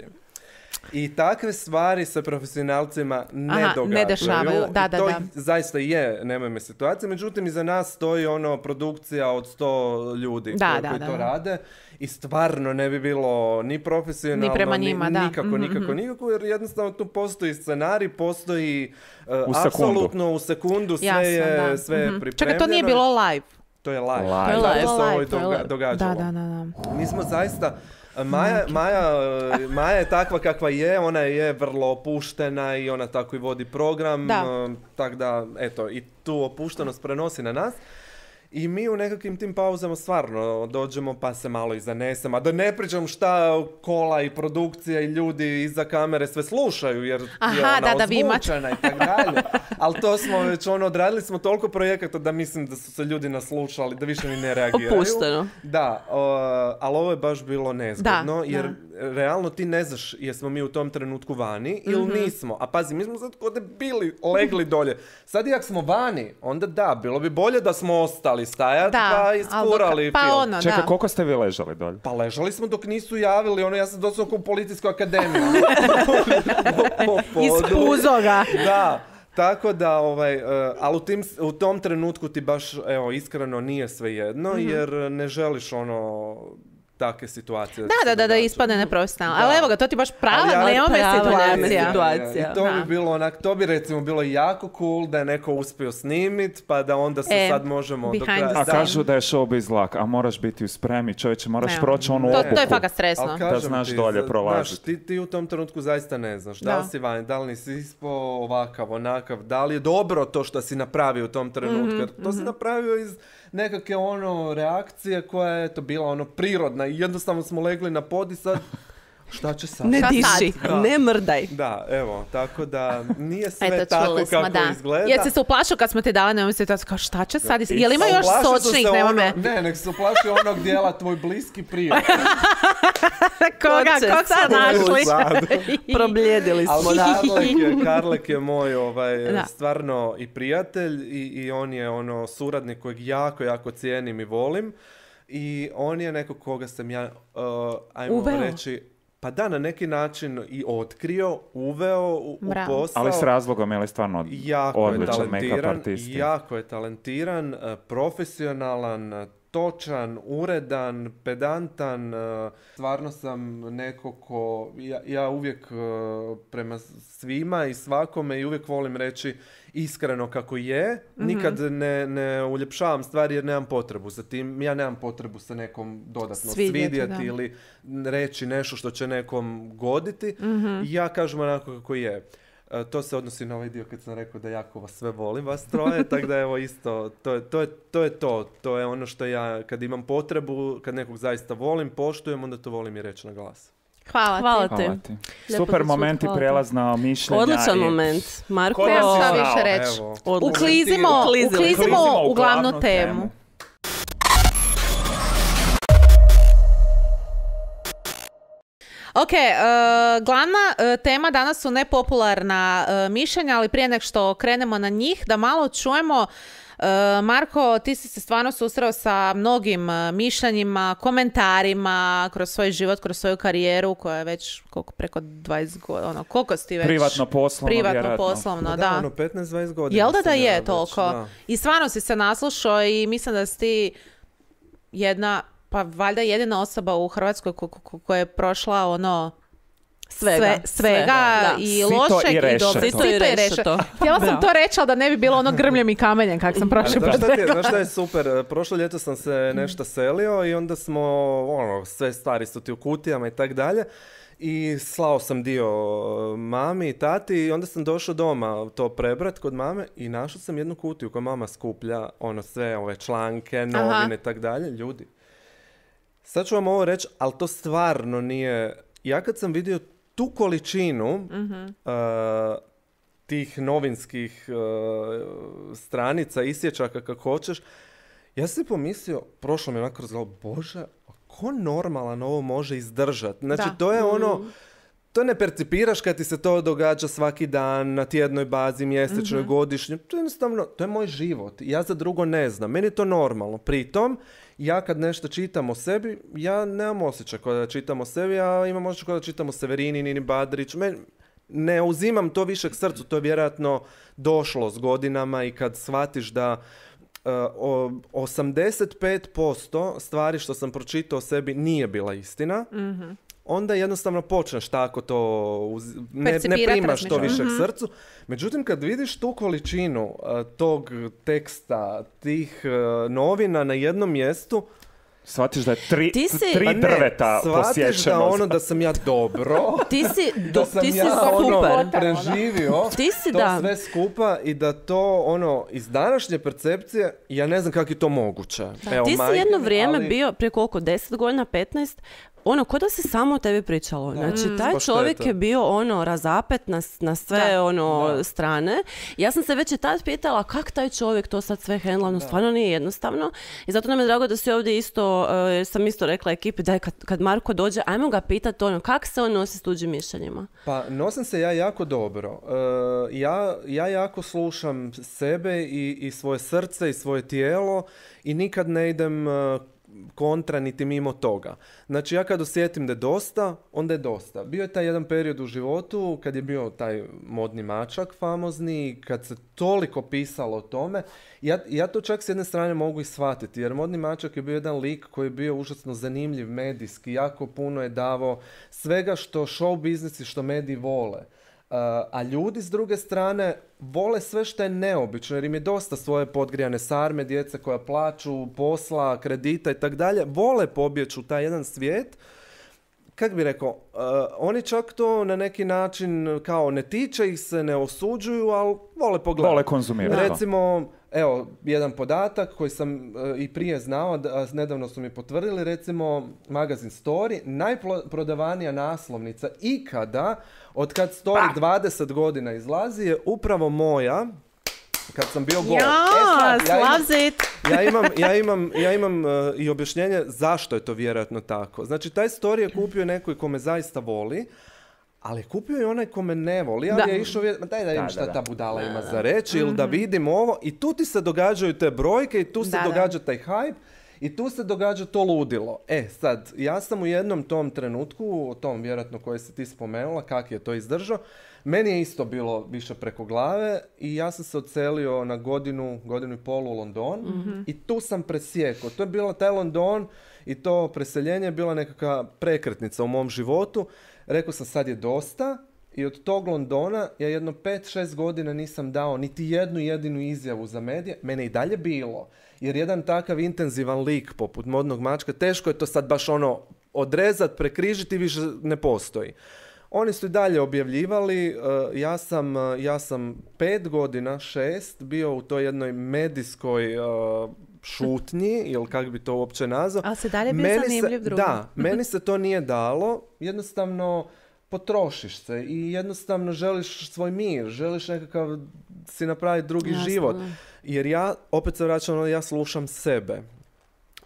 I takve stvari sa profesionalcima ne Aha, ne događaju. dešavaju. Da, I da, to da. zaista je, nemoj me situacije, međutim iza nas stoji ono produkcija od sto ljudi Da, koji, da, koji da, to da. rade i stvarno ne bi bilo ni profesionalno, Ni prema njima, da. nikako, Mhm, nikako, mhm. nikako, jer jednostavno tu postoji scenarij, postoji uh, U sekundu. apsolutno u sekundu sve Jasno, je, da. sve je Mhm. pripremljeno. Čekaj, to nije bilo live. To je live. Live. To je live. live. se ovo i To je doga- live. događalo. Da, da, da, da. Mi smo zaista, Maja, Maja, Maja je takva kakva je, ona je vrlo opuštena i ona tako i vodi program, Da. tako da, eto, i tu opuštenost prenosi na nas. I mi u nekakvim tim pauzama stvarno dođemo pa se malo i zanesemo. A da ne pričam šta kola i produkcija i ljudi iza kamere sve slušaju jer Aha, je ona da, da, vi imate. ozvučena i tako dalje. Ali to smo već ono, odradili smo toliko projekata da mislim da su se ljudi naslušali, da više ni ne reagiraju. Opušteno. Da, o, ali ovo je baš bilo nezgodno Da, jer da. realno ti ne znaš jesmo mi u tom trenutku vani ili Mhm. nismo. A pazi, mi smo sad kod bili legli dolje. Sad i ako smo vani, onda da, bilo bi bolje da smo ostali stajati Da, pa ali iskurali dok- pa film. ono, Čekaj, da. koliko ste vi ležali dolje? Pa ležali smo dok nisu javili, ono ja sam doslovno kao u policijsku akademiju. Po Iz podu. puzoga. Da, tako da, ovaj, uh, ali u, tim, u tom trenutku ti baš, evo, iskreno nije svejedno, Mhm. jer ne želiš ono, takve situacije. Da, se da, da, da događaju. ispadne neprofesionalno. Da. Ali evo ga, to ti baš prava Ali ja- neome prava situacija. neome situacija. I to Da. bi bilo onak, to bi recimo bilo jako cool da je neko uspio snimit, pa da onda se E, sad možemo do behind kraja. the A Da. kažu da je showbiz lak, a moraš biti u spremi, čovječe, moraš Ne. proći onu To, obuku. to je fakat stresno. Ali kažem znaš ti, dolje za- prolaziti. Znaš, ti, ti u tom trenutku zaista ne znaš. Da, li Da. si vani, da li nisi ispo ovakav, onakav, da li je dobro to što si napravio u tom trenutku. Mhm, Jer to si napravio iz nekakve ono reakcije koja je to bila ono prirodna i jednostavno smo legli na pod i sad šta će sad? Ne Šta diši, sad? Da. ne mrdaj. Da, evo, tako da nije sve Eto, tako čuli smo, kako da. izgleda. Jer si se uplašio kad smo ti dali neome situaciju, kao šta će sad? Jel ima još Uplašio sam sočnih se neome? ono- Ne, nek se uplašio onog dijela tvoj bliski prijatelj. Koga, Ko će kog ste sad našli? Sad. Probljedili Ali smo. Karlek je, Karlek je moj ovaj, Da. stvarno i prijatelj i, i on je ono suradnik kojeg jako, jako cijenim i volim. I on je neko koga sam ja, uh, ajmo Uveo. reći, pa da, na neki način i otkrio, uveo u, u Bravo. posao. Ali s razlogom, je li stvarno Jako je odličan make-up talentiran, artist? jako je talentiran, eh, profesionalan, točan, uredan, pedantan. eh, Stvarno sam neko ko, ja, ja uvijek eh, prema svima i svakome i uvijek volim reći iskreno kako je. Nikad ne, ne uljepšavam stvari jer nemam potrebu za tim. Ja nemam potrebu se nekom dodatno Svidjeti, svidjeti da. ili reći nešto što će nekom goditi. Ja kažem onako kako je. E, to se odnosi na ovaj dio kad sam rekao da jako vas sve volim, vas troje, tako da evo isto, to je, to, je, to je to. To je ono što ja, kad imam potrebu, kad nekog zaista volim, poštujem, onda to volim i reći na glas. Hvala, Hvala ti. te. Hvala ti. Lijepo Super ti moment i hvala ti. prijelaz na mišljenja. Odličan i- moment. Marko, Ko Nemam si šta znao, više reći. evo. odlično. Uklizimo, Uklizili. uklizimo u glavnu temu. Ok, e, glavna e, tema danas su nepopularna e, mišljenja, ali prije nek što krenemo na njih, da malo čujemo. e, Marko, ti si se stvarno susreo sa mnogim e, mišljenjima, komentarima kroz svoj život, kroz svoju karijeru koja je već koliko, preko dvadeset godina, ono, koliko si ti već? Privatno, poslovno, Privatno, vjerojatno. poslovno, Pa da. da, ono petnaest dvadeset godina. Jel da da sam ja je već, toliko? da. I stvarno si se naslušao i mislim da si ti jedna, pa valjda jedina osoba u Hrvatskoj ko- ko- koja je prošla ono Svega. sve- svega Da. i Sito lošeg i i rešeto. dobrog. Sito i rešeto. Htjela sam Bravo. to reći, ali da ne bi bilo ono grmljem i kamenjem kak sam prošli Znaš put šta, ti je, rekla. znaš šta je super? Prošlo ljeto sam se nešto selio i onda smo, ono, sve stvari su ti u kutijama i tak dalje. I slao sam dio mami i tati i onda sam došao doma to prebrat kod mame i našao sam jednu kutiju koju mama skuplja, ono sve ove članke, novine i tak dalje. Ljudi, sad ću vam ovo reći, ali to stvarno nije... Ja kad sam vidio tu količinu uh, tih novinskih uh, stranica, isječaka kako hoćeš, ja sam si pomislio, prošlo mi je onako kroz glavu, bože, a ko normalan ovo može izdržati? Znači, Da. to je ono... To ne percipiraš kad ti se to događa svaki dan, na tjednoj bazi, mjesečnoj, godišnjoj. To je jednostavno, to je moj život. Ja za drugo ne znam. Meni je to normalno. Pritom, ja kad nešto čitam o sebi, ja nemam osjećaj kao da čitam o sebi, ja imam osjećaj kao da čitam o Severini, Nini Badrić. Men, ne uzimam to više k srcu. To je vjerojatno došlo s godinama i kad shvatiš da uh, o, osamdeset pet posto stvari što sam pročitao o sebi nije bila istina. Onda jednostavno počneš tako to, uz- ne, ne Percipirat, primaš to razmišljat. više k srcu. Međutim, kad vidiš tu količinu uh, tog teksta, tih uh, novina na jednom mjestu, Shvatiš da je tri, Ti si- tri pa ne, drveta shvatiš posjećeno. da ono da sam ja dobro, Ti si, do, da sam ti si ja ono super. preživio Ti si, to da. sve skupa i da to ono iz današnje percepcije, ja ne znam kako je to moguće. Evo, Ti si majke jedno mi, vrijeme ali- bio, prije koliko, deset godina, petnaest, ono, ko da se samo o tebi pričalo. Znači, taj Pa šteta. čovjek je bio ono razapet na, s- na sve Da. ono Da. strane. Ja sam se već i tad pitala kak taj čovjek to sad sve hendla, no stvarno nije jednostavno. I zato nam je drago da si ovdje isto, uh, jer sam isto rekla ekipi, daj kad, kad Marko dođe, ajmo ga pitati ono, kak se on nosi s tuđim mišljenjima. Pa nosim se ja jako dobro. E, ja, ja jako slušam sebe i, i svoje srce i svoje tijelo i nikad ne idem e, kontra niti mimo toga. Znači ja kad osjetim da je dosta, onda je dosta. Bio je taj jedan period u životu kad je bio taj modni mačak famozni, kad se toliko pisalo o tome. Ja, ja to čak s jedne strane mogu i shvatiti, jer modni mačak je bio jedan lik koji je bio užasno zanimljiv medijski, jako puno je davao svega što show biznis i što mediji vole. Uh, a ljudi s druge strane vole sve što je neobično jer im je dosta svoje podgrijane sarme, djece koja plaću, posla, kredita i tak dalje. Vole pobjeći u taj jedan svijet. Kak bi rekao, uh, oni čak to na neki način kao ne tiče ih se, ne osuđuju, ali vole pogledati. Vole konzumirati. Recimo, evo, jedan podatak koji sam e, i prije znao, da, a nedavno su mi potvrdili, recimo, magazin Story, najprodavanija naslovnica ikada, od kad Story dvadeset godina izlazi, je upravo moja, kad sam bio gol. Ja, sad, ja imam- loves it. ja imam, ja imam, ja imam e, i objašnjenje zašto je to vjerojatno tako. Znači, taj Story je kupio neko ko me zaista voli, ali kupio je onaj ko me ne voli, ali Da. je išao vidjeti, ma daj da vidim Da, šta da, ta budala ima za reći, ili da Mhm. vidim ovo, i tu ti se događaju te brojke i tu se Da, da. događa taj hype. I tu se događa to ludilo. E, sad, ja sam u jednom tom trenutku, u tom vjerojatno koje si ti spomenula, kak je to izdržao, meni je isto bilo više preko glave i ja sam se odselio na godinu, godinu i pol u London mm-hmm. i tu sam presjekao. To je bilo taj London i to preseljenje je bila nekakva prekretnica u mom životu. Rekao sam sad je dosta i od tog Londona ja jedno pet šest godina nisam dao niti jednu jedinu izjavu za medije. Mene i dalje bilo. Jer jedan takav intenzivan lik poput modnog mačka, teško je to sad baš ono odrezat, prekrižiti, više ne postoji. Oni su i dalje objavljivali, uh, ja, sam, uh, ja sam pet godina, šest, bio u toj jednoj medijskoj uh, šutnji, ili kako bi to uopće nazvao. Ali se dalje bio zanimljiv drugi. Da, meni se to nije dalo, jednostavno potrošiš se i jednostavno želiš svoj mir, želiš nekakav si napraviti drugi Jasno. život. Jer ja, opet se vraćam, ja slušam sebe.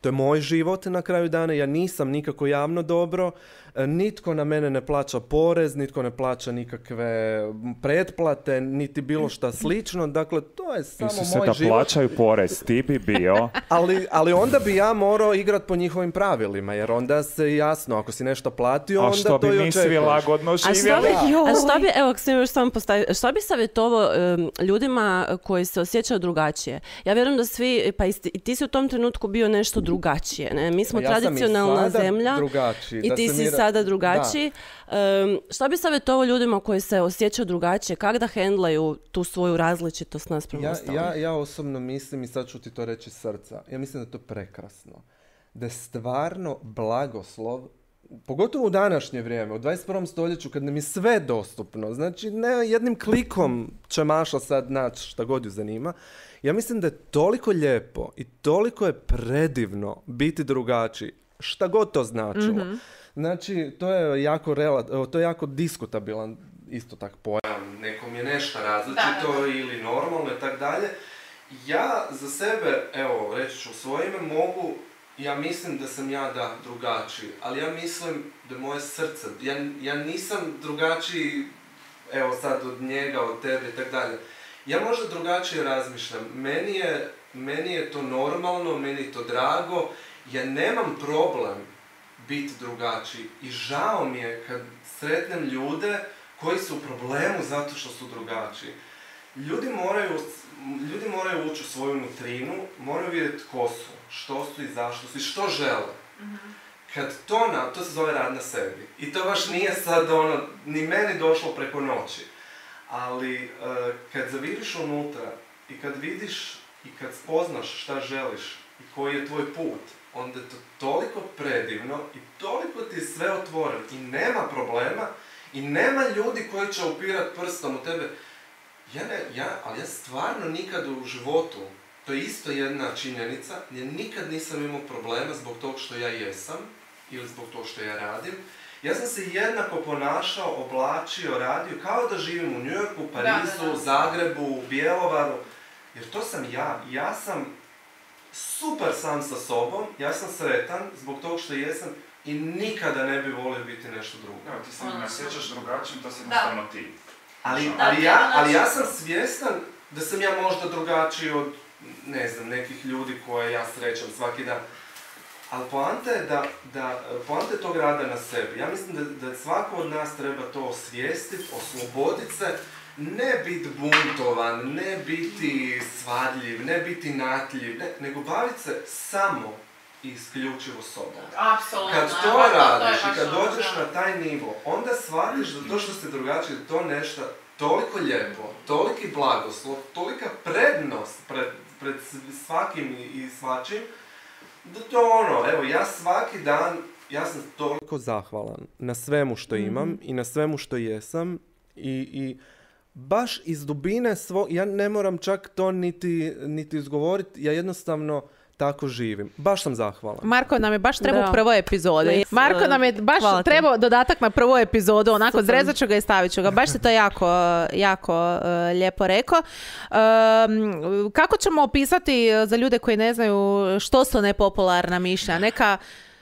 To je moj život na kraju dana, ja nisam nikako javno dobro, nitko na mene ne plaća porez, nitko ne plaća nikakve pretplate, niti bilo šta slično, dakle to je samo moj život. Ti se da plaćaju porez, ti bi bio. ali, ali onda bi ja morao igrat po njihovim pravilima, jer onda se jasno, ako si nešto platio, onda to i očekuješ. A što bi mi svi lagodno živjeli? A što bi, evo, još samo postavi, što bi savjetovao um, ljudima koji se osjećaju drugačije? Ja vjerujem da svi, pa i ti si u tom trenutku bio nešto drugačije, ne? Mi smo ja tradicionalna zemlja i ti si mira... sada drugačiji. Um, što bi savjetovao ljudima koji se osjećaju drugačije? Kako da hendlaju tu svoju različitost naspram ja, ostalih? ja, ja osobno mislim, i sad ću ti to reći iz srca, ja mislim da je to prekrasno. Da je stvarno blagoslov, pogotovo u današnje vrijeme, u dvadeset prvom stoljeću, kad nam je sve dostupno, znači ne jednim klikom će Maša sad naći šta god ju zanima. Ja mislim da je toliko lijepo i toliko je predivno biti drugačiji, šta god to značilo. Mm-hmm. Znači, to je jako, rela- to je jako diskutabilan isto tak pojam. Nekom je nešto različito da, da, da. ili normalno i tak dalje. Ja za sebe, evo, reći ću svoje ime, mogu, ja mislim da sam ja da drugačiji, ali ja mislim da je moje srce, ja, ja nisam drugačiji, evo sad od njega, od tebe i tak dalje. Ja možda drugačije razmišljam. Meni je, meni je to normalno, meni je to drago. Ja nemam problem biti drugačiji. I žao mi je kad sretnem ljude koji su u problemu zato što su drugačiji. Ljudi moraju, ljudi moraju ući u svoju nutrinu, moraju vidjeti ko su, što su i zašto su i što žele. Mm-hmm. Kad to, na, to se zove rad na sebi. I to baš nije sad ono, ni meni došlo preko noći. Ali uh, kad zavidiš unutra i kad vidiš i kad spoznaš šta želiš i koji je tvoj put, onda je to toliko predivno i toliko ti je sve otvoreno i nema problema i nema ljudi koji će upirat prstom u tebe. Ja ne, ja, ali ja stvarno nikad u životu, to je isto jedna činjenica, ja nikad nisam imao problema zbog tog što ja jesam ili zbog tog što ja radim. Ja sam se jednako ponašao, oblačio, radio, kao da živim u New Yorku, Parizu, da, da, da. Zagrebu, Bjelovaru, jer to sam ja. Ja sam super sam sa sobom, ja sam sretan zbog tog što jesam i nikada ne bi volio biti nešto drugo. Evo, ti se ne osjećaš drugačijim, to si jednostavno ti. Ali, ali, ja, ali ja sam svjestan da sam ja možda drugačiji od, ne znam, nekih ljudi koje ja srećam svaki dan. Ali poanta je da, da, poanta je tog rada na sebi. Ja mislim da, da svako od nas treba to osvijestiti, osloboditi se, ne biti buntovan, ne biti svadljiv, ne biti natljiv, ne, nego baviti se samo i isključivo sobom. Apsolutno. Kad to radiš i kad dođeš na taj nivo, onda shvatiš da to što ste drugačiji, da to nešto toliko lijepo, toliki blagoslov, tolika prednost pred, pred svakim i svačim, da to ono, evo, ja svaki dan, ja sam toliko zahvalan na svemu što imam mm-hmm. i na svemu što jesam i, i baš iz dubine svog, ja ne moram čak to niti, niti izgovoriti, ja jednostavno tako živim. Baš sam zahvalan. Marko nam je baš trebao u prvoj epizodi. Marko nam je baš trebao dodatak na prvu epizodu, onako zrezat ću ga i stavit ću ga. Baš se to jako, jako uh, lijepo rekao. Um, kako ćemo opisati za ljude koji ne znaju što su nepopularna mišljenja? Neka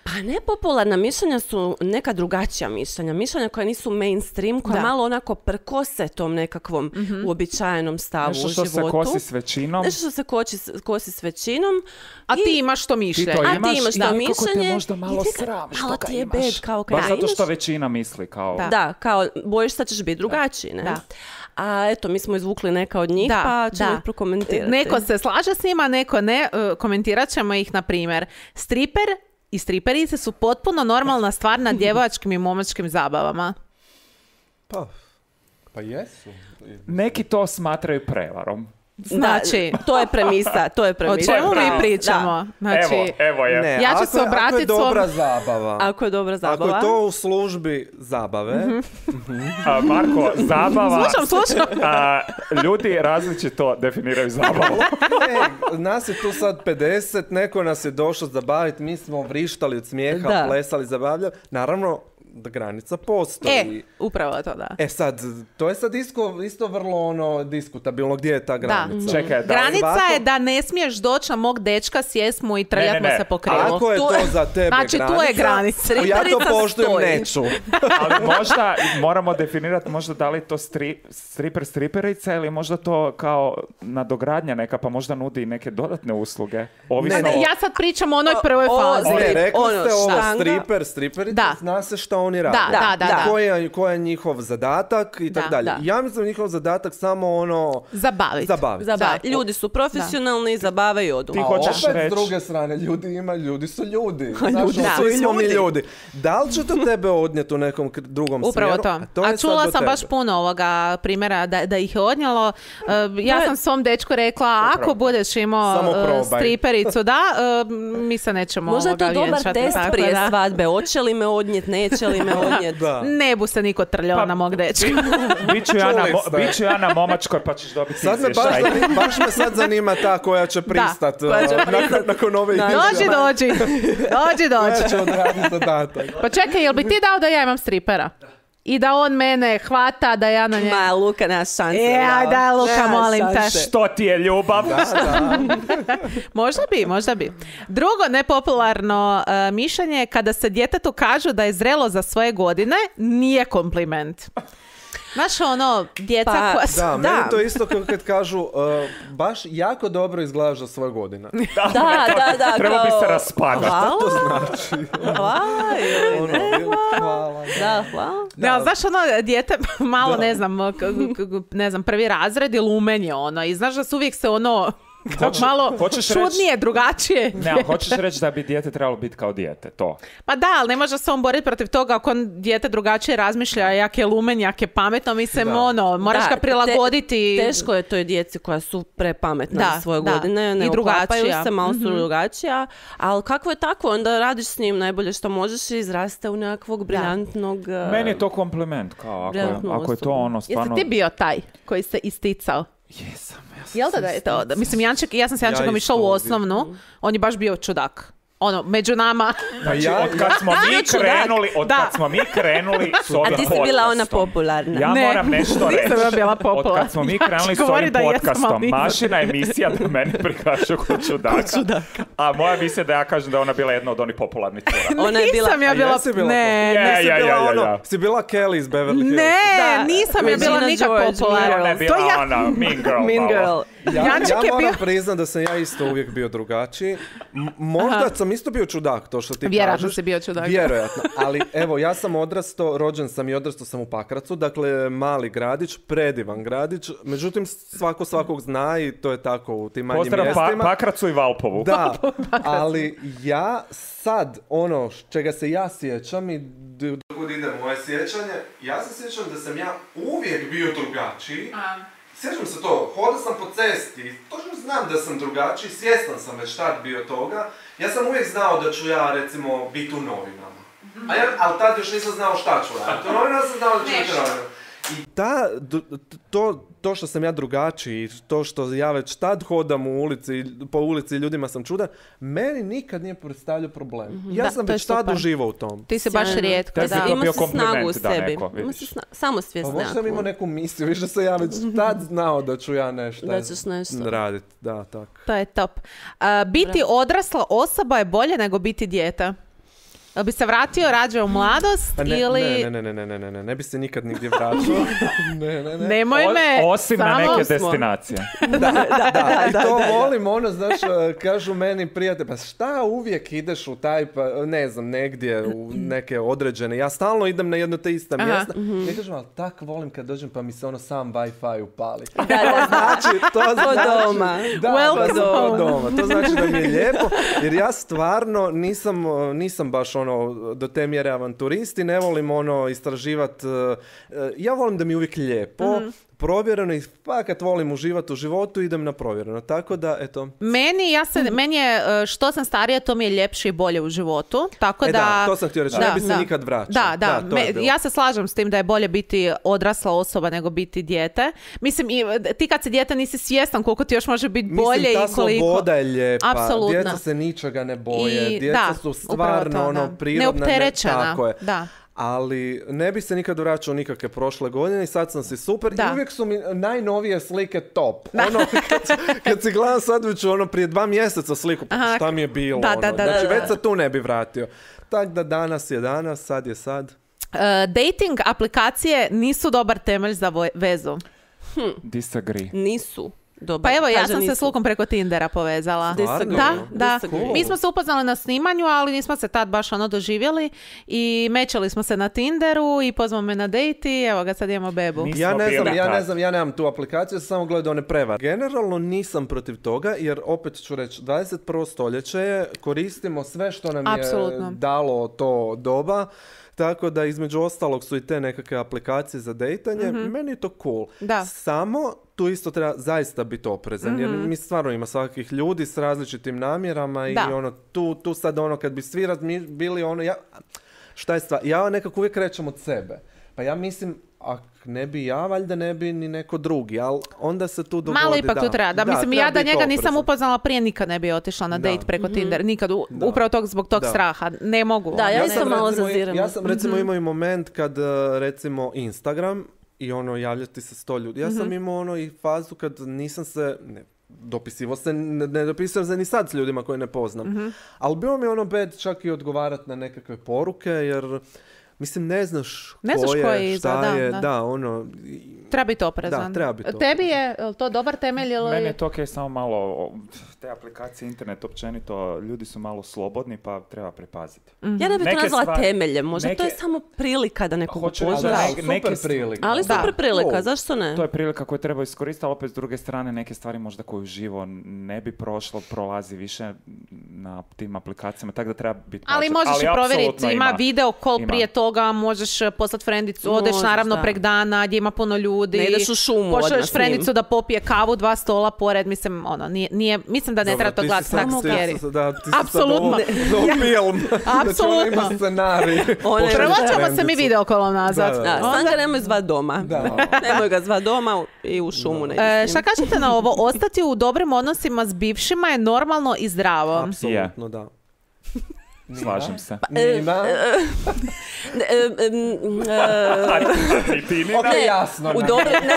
Pa nepopularna mišljenja su neka drugačija mišljenja. Mišljenja koja nisu mainstream, koja Da. malo onako prkose tom nekakvom uobičajenom stavu Nešto u što životu. se kosi s većinom. Nešto što se kosi, kosi s većinom. A I- ti imaš to Ti mišljenje. to A ti imaš imaš i to nekako te mišljenje možda malo i ti te- sram što malo ga ti je imaš. bed, kao kad Baš ga zato što imaš. većina misli kao... Da. Da, kao bojiš sad ćeš biti drugačiji, ne? Da. A eto, mi smo izvukli neka od njih, Da, pa ćemo da. ih prokomentirati. Neko se slaže s njima, neko ne. E, komentirat ćemo ih, na primjer. Striper i striperice su potpuno normalna stvar na djevojačkim i momačkim zabavama. Pa, pa jesu. Neki to smatraju prevarom. Znači, Da, to je premisa, to je o premisa. čemu mi Bravo, pričamo? da. Znači, Evo, evo je. Ne, Ja ću ako se je- ako je obratit dobra svom- zabava. Ako je dobra zabava. Ako je to u službi zabave, A, Marko, zabava... slušam, slušam. a, ljudi različito definiraju zabavu. ne, nas je tu sad pedeset, neko nas je došao zabaviti, mi smo vrištali od smijeha, Da. plesali, zabavljali. Naravno, da granica postoji. E, upravo to, da. E sad, to je sad isto, isto vrlo ono diskutabilno, gdje je ta granica? Čekaj, da. Granica Svako- je da ne smiješ doći na mog dečka, sjest mu i trljat Ne, ne, mu ne. se po krilu. Ako je Tu- to za tebe Znači, tu je granica. ja to Striperica poštujem, stoji. neću. Ali možda moramo definirati možda da li to stri, striper striperica ili možda to kao nadogradnja neka, pa možda nudi i neke dodatne usluge. Ovisno Ne, o- Ja sad pričam o onoj prvoj O- o- fazi. Strip, Ne, rekli ono, ste ovo, štanga. striper, striperica, Da. zna se šta oni rade. Da, da, da, da. Koji je, koji je njihov zadatak i tako Da, dalje. da. Ja mislim da je njihov zadatak samo ono... Zabaviti. Zabaviti. Zaba- Da. Ljudi su profesionalni, zabavaju i odu. Ti A hoćeš opet reći- s druge strane, ljudi ima, ljudi su ljudi. Znaš, ljudi ono, su svi i smo mi ljudi. ljudi. Da li će to tebe odnijeti u nekom kr- drugom Upravo smjeru? to. je A sad čula do sam tebe. baš puno ovoga primjera da, da ih je odnijelo. Uh, ja je- sam svom dečku rekla, ako budeš imao Samo uh, probaj. stripericu, da, uh, mi se nećemo Možda je ovoga to dobar vjenčati, test tako prije da. svadbe. Hoće li me odnijet, neće li me odnijet. Da. Ne bu se niko trljao Pa- na mog dečka. Biću ja, na, Čuli mo- ste. biću ja na momačkoj pa ćeš dobiti Sad me baš, izvještaj. zani- baš me sad zanima ta koja će pristat koja će uh, nakon, pristat. nakon ove Da. izjave. Dođi, dođi. Dođi, Koja dođi. će odraditi zadatak. Pa čekaj, jel bi ti dao da ja imam stripera? I da on mene hvata, da ja na njega... Ma, Luka, nema šanse. E, aj daj, Luka, Nema molim te. šanse. Što ti je ljubav? Da, da. Možda bi, možda bi. Drugo nepopularno uh, mišljenje je kada se djetetu kažu da je zrelo za svoje godine, nije kompliment. Znaš ono, djeca Pa, koja su... Da, Da. meni to isto kao kad kažu uh, baš jako dobro izgledaš za svoje godine. Da, da, da. Treba bi kao- se raspadati. Hvala. To znači. Hvala. joj, Ono, ne. hvala. Da, hvala. Da, znaš ono, dijete malo, Da. ne znam, k- k- ne znam, prvi razred ili lumenje ono, i znaš da su uvijek se ono, Hoće- malo hoćeš čudnije, drugačije. Ne, ali hoćeš reći da bi dijete trebalo biti kao dijete, to. Pa da, ali ne može se on boriti protiv toga ako on dijete drugačije razmišlja, jak je lumen, jak je pametno, mislim, Da. ono, moraš Da, ga prilagoditi. te- teško je toj djeci koja su prepametna Da, za svoje da. godine, ne I drugačija. uklapaju se, malo su Mhm. drugačija, ali kako je tako, onda radiš s njim najbolje što možeš i izraste u nekakvog briljantnog... uh, Meni je to kompliment, kao ako, je- Briljantnu ako je to osobu. ono Jesi stvarno... ti bio taj koji se isticao? Jesam, ja sam Jel da da je to? Da, mislim, Janček, ja sam s Jančekom Ja išla u isto osnovnu, on je baš bio čudak. Ono, među nama. Znači, ja- od kad smo mi čudak. krenuli, od Da. kad smo mi krenuli s ovim A ti si bila ona podcastom, popularna. Ja Ne, moram nešto reći. nisam ja bila Od popularna. kad smo mi Ja krenuli ću s ovim govorit da jesam, ali podcastom, nisam. Mašina emisija da mene prikažu kod čudaka, a moja emisija da ja kažem da je ona bila jedna od onih popularnih cura. Ona je bila... Nisam ja A bila... jesi bila ne, Je, ne, Si ja, bila ja, ja, ono, ja. si bila Kelly iz Beverly Hills. ne, Da, nisam ja bila Regina nikak George, popularna. Ona je bila To ja... ona, Mean Girl. Mean malo. Girl. Ja, Janček ja je moram bio- priznat da sam ja isto uvijek bio drugačiji. M- možda Aha. sam isto bio čudak, to što ti Vjerojatno kažeš. si bio čudak. Vjerojatno. Ali evo, ja sam odrastao, rođen sam i odrastao sam u Pakracu, dakle mali gradić, predivan gradić. Međutim, svako svakog zna i to je tako u tim manjim Pozdrav pa, mjestima. Pakracu i Valpovu. Da, ali ja sad, ono čega se ja sjećam i d- dok idem u moje sjećanje, ja se sjećam da sam ja uvijek bio drugačiji. Sjećam se to, hodao sam po cesti, točno znam da sam drugačiji, svjestan sam već tad bio toga. Ja sam uvijek znao da ću ja, recimo, biti u novinama. A ja, ali tad još nisam znao šta ću raditi. U novinama sam znao da ću biti u novinama. I ta, d- to, to što sam ja drugačiji, to što ja već tad hodam u ulici, po ulici i ljudima sam čudan, meni nikad nije predstavljao problem. Ja Da, sam to je već tad super. uživao u tom. Ti si baš Sjajno. rijetko, Tebi da. je to Ima bio se snagu u kompliment da sebi. neko, Ima vidiš. se sna- Pa samosvijest možda sam imao nekakvu. neku misiju, više sam ja već tad znao da ću ja nešto Da ćeš nešto. raditi. Da, tako. To je top. A, biti odrasla osoba je bolje nego biti dijete. Jel bi se vratio rađe u mladost Pa ne, ili... ne, ne, ne, ne, ne, ne, ne, ne bi se nikad nigdje vraćao. ne, ne, ne. Nemoj me... O- osim na samo- neke smo. destinacije. Da, da, i to volim, ono, znaš, kažu meni prijatelji, pa šta uvijek ideš u taj, pa, ne znam, negdje, u neke određene, ja stalno idem na jedno te ista Aha. mjesta, i kažem, ali tak volim kad dođem pa mi se ono sam Wi-Fi upali. Da, da, znači, to znači, doma. Da, Welcome pa to home. doma. To znači da mi je lijepo, jer ja stvarno nisam, nisam baš ono, do te mjere avanturisti, ne volim ono istraživati, ja volim da mi je uvijek lijepo, provjereno i fakat volim uživati u životu, idem na provjereno. Tako da, eto. Meni, ja se, meni je, e, što sam starija, to mi je ljepše i bolje u životu. Tako E da, da, to sam htio reći, da, ne bi se da. nikad vraćao. Da, da, to je me- bilo. ja se slažem s tim da je bolje biti odrasla osoba nego biti dijete. Mislim, i, ti kad si dijete nisi svjestan koliko ti još može biti bolje Mislim, ta i koliko... sloboda je lijepa. Apsolutno. Djeca se ničega ne boje. I- Djeca da, su upravo stvarno to, ono da. prirodna. ne- Neopterećena, Tako je. da. Ali ne bi se nikad vraćao nikakve prošle godine i sad sam si super. Da. I uvijek su mi najnovije slike top. Ono, kad, kad si gledam sad već ono prije dva mjeseca sliku, pa Aha. šta mi je bilo? Da, ono. da, da, znači da, već da. se tu ne bi vratio. Tako da danas je danas, sad je sad. E, dating aplikacije nisu dobar temelj za vo- vezu. Disagree. Nisu. Dobar, Pa evo, ja kaže sam se nisu. s Lukom preko Tindera povezala. Disagree. Da, da. Disagree. Mi smo se upoznali na snimanju, ali nismo se tad baš ono doživjeli i mečali smo se na Tinderu i pozvao me na dejt i evo ga, sad imamo bebu. Nismo Ja ne znam, bili ja tad. ne znam, ja nemam tu aplikaciju, ja sam samo gledao one prevare. Generalno nisam protiv toga, jer opet ću reći, dvadeset prvo stoljeće je, koristimo sve što nam Apsolutno. je dalo to doba, tako da između ostalog su i te nekakve aplikacije za dejtanje. Meni je to cool. Da. Samo tu isto treba zaista biti oprezan, jer mi stvarno ima svakih ljudi s različitim namjerama i Da. ono, tu, tu sad ono, kad bi svi razmi- bili ono, ja, šta je stvar, ja nekako uvijek krećem od sebe. Pa ja mislim, ak ne bi ja, valjda ne bi ni neko drugi, ali onda se tu dogodi, Malo ipak da. tu treba. Da, mislim, ja da biti njega nisam oprezan. upoznala prije, nikad ne bi otišla na Da. dejt preko Tindera. Nikad, u- Da. upravo tog, zbog tog Da. straha. Ne mogu. Da, ja Ne isto znam. malo recimo, zaziram. Ja sam recimo Mhm. imao i moment kad, uh, recimo, Instagram i ono, javljati se sto ljudi. Ja Mhm. sam imao ono i fazu kad nisam se, ne, dopisivo se, ne, ne dopisujem se ni sad s ljudima koje ne poznam. Mhm. Ali bilo mi ono bed čak i odgovarati na nekakve poruke, jer mislim, ne znaš Ne ko znaš je, ko je šta iza, da, je, da. da, ono, i- Treba biti oprezan. Da, treba biti Tebi je jel to dobar temelj ili... Meni je to okej, samo malo, o, te aplikacije, internet općenito, ljudi su malo slobodni pa treba pripaziti. Ja ne bih to Neke nazvala stvari- temeljem, možda to je neke- samo prilika da nekog Hoću upoznaš. reći, da, neke- super neke st- prilika. Ali Da. super prilika, Cool. zašto ne? To je prilika koju treba iskoristiti, ali opet s druge strane neke stvari možda koju živo ne bi prošlo, prolazi više na tim aplikacijama, tako da treba biti Ali pažljiv. možeš i provjeriti, apsolutno ima, video call Ima. prije toga, možeš poslati frendicu, odeš Možeš, naravno da. prek dana gdje ima puno ljudi. Ne ideš u šumu odmah Pošalješ s frendicu njim. da popije kavu, dva stola pored, mislim, ono, nije, nije mislim da ne Dobro, treba to ti si gledati sad- tak ti scary. si- Da, ti si sad Apsolutno. ovo- ovo film. Znači, Apsolutno. ona ima scenarij. One- Pošalješ Prvo ćemo se mi frendicu. videokolom nazvat. Da, da, Da, Onda- sam ga nemoj zvat doma. Da. Nemoj ga zvat doma i u šumu ne E, ideš s šta njim. kažete na ovo? Ostati u dobrim odnosima s bivšima je normalno i zdravo. Apsolutno, da. Slažem se. Nina? E, e, m, e, Ni ti, ni Ok, ne, jasno. u ne. dobri, ne,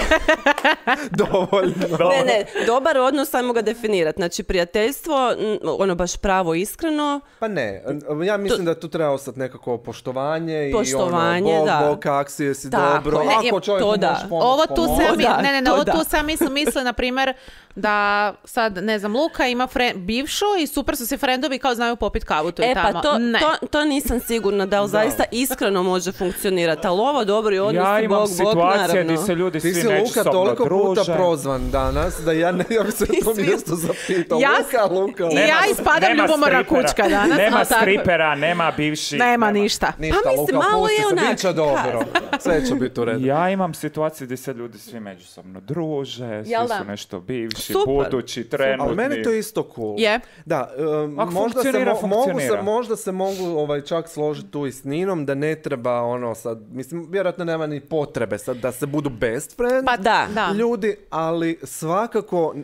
Dovoljno. ne, ne, dobar odnos, ajmo ga definirati. Znači, prijateljstvo, m, ono baš pravo, iskreno, Pa ne, ja mislim da tu treba ostati nekako poštovanje, Poštovanje, i ono, bog, da. bog, kak si, jesi Tako dobro, je. Ne, ako je- čovjeku to da. možeš pomoći, Ovo tu pomoći. sam, da, ne, ne, ne, to ovo da. tu sam misli, misli, na primjer, da sad, ne znam, Luka ima fre- bivšu i super su si frendovi i kao znaju popit kavu tu i E tamo. pa to, ne. to, to nisam sigurna da li zaista iskreno može funkcionirati, ali ovo dobri odnosi, Ja imam bog, bog, situacije naravno. gdje se ljudi Ti svi si Luka međusobno toliko puta druže. prozvan danas da ja ne ja bi se na to svi- mjesto zapitao. Ja- Luka, Luka, Luka. I ja ispadam nema ljubomorna stripera, kućka danas. Nema ali tako- stripera, nema bivši. Nema ništa. Ništa, Pa mislim, Luka, malo pusti je se, onak, bit će dobro. Sve će biti u redu. Ja imam situacije gdje se ljudi svi međusobno druže, svi Jel da? su nešto bivši, Super. budući, trenutni. Ali meni to isto cool. Je. Da, um, Ako možda, se, funkcionira, mo- mogu se, funkcionira. možda se mogu ovaj, čak složiti tu i s Ninom da ne treba ono sad, mislim, vjerojatno nema ni potrebe sad da se budu best friend Pa da, da. ljudi, ali svakako uh,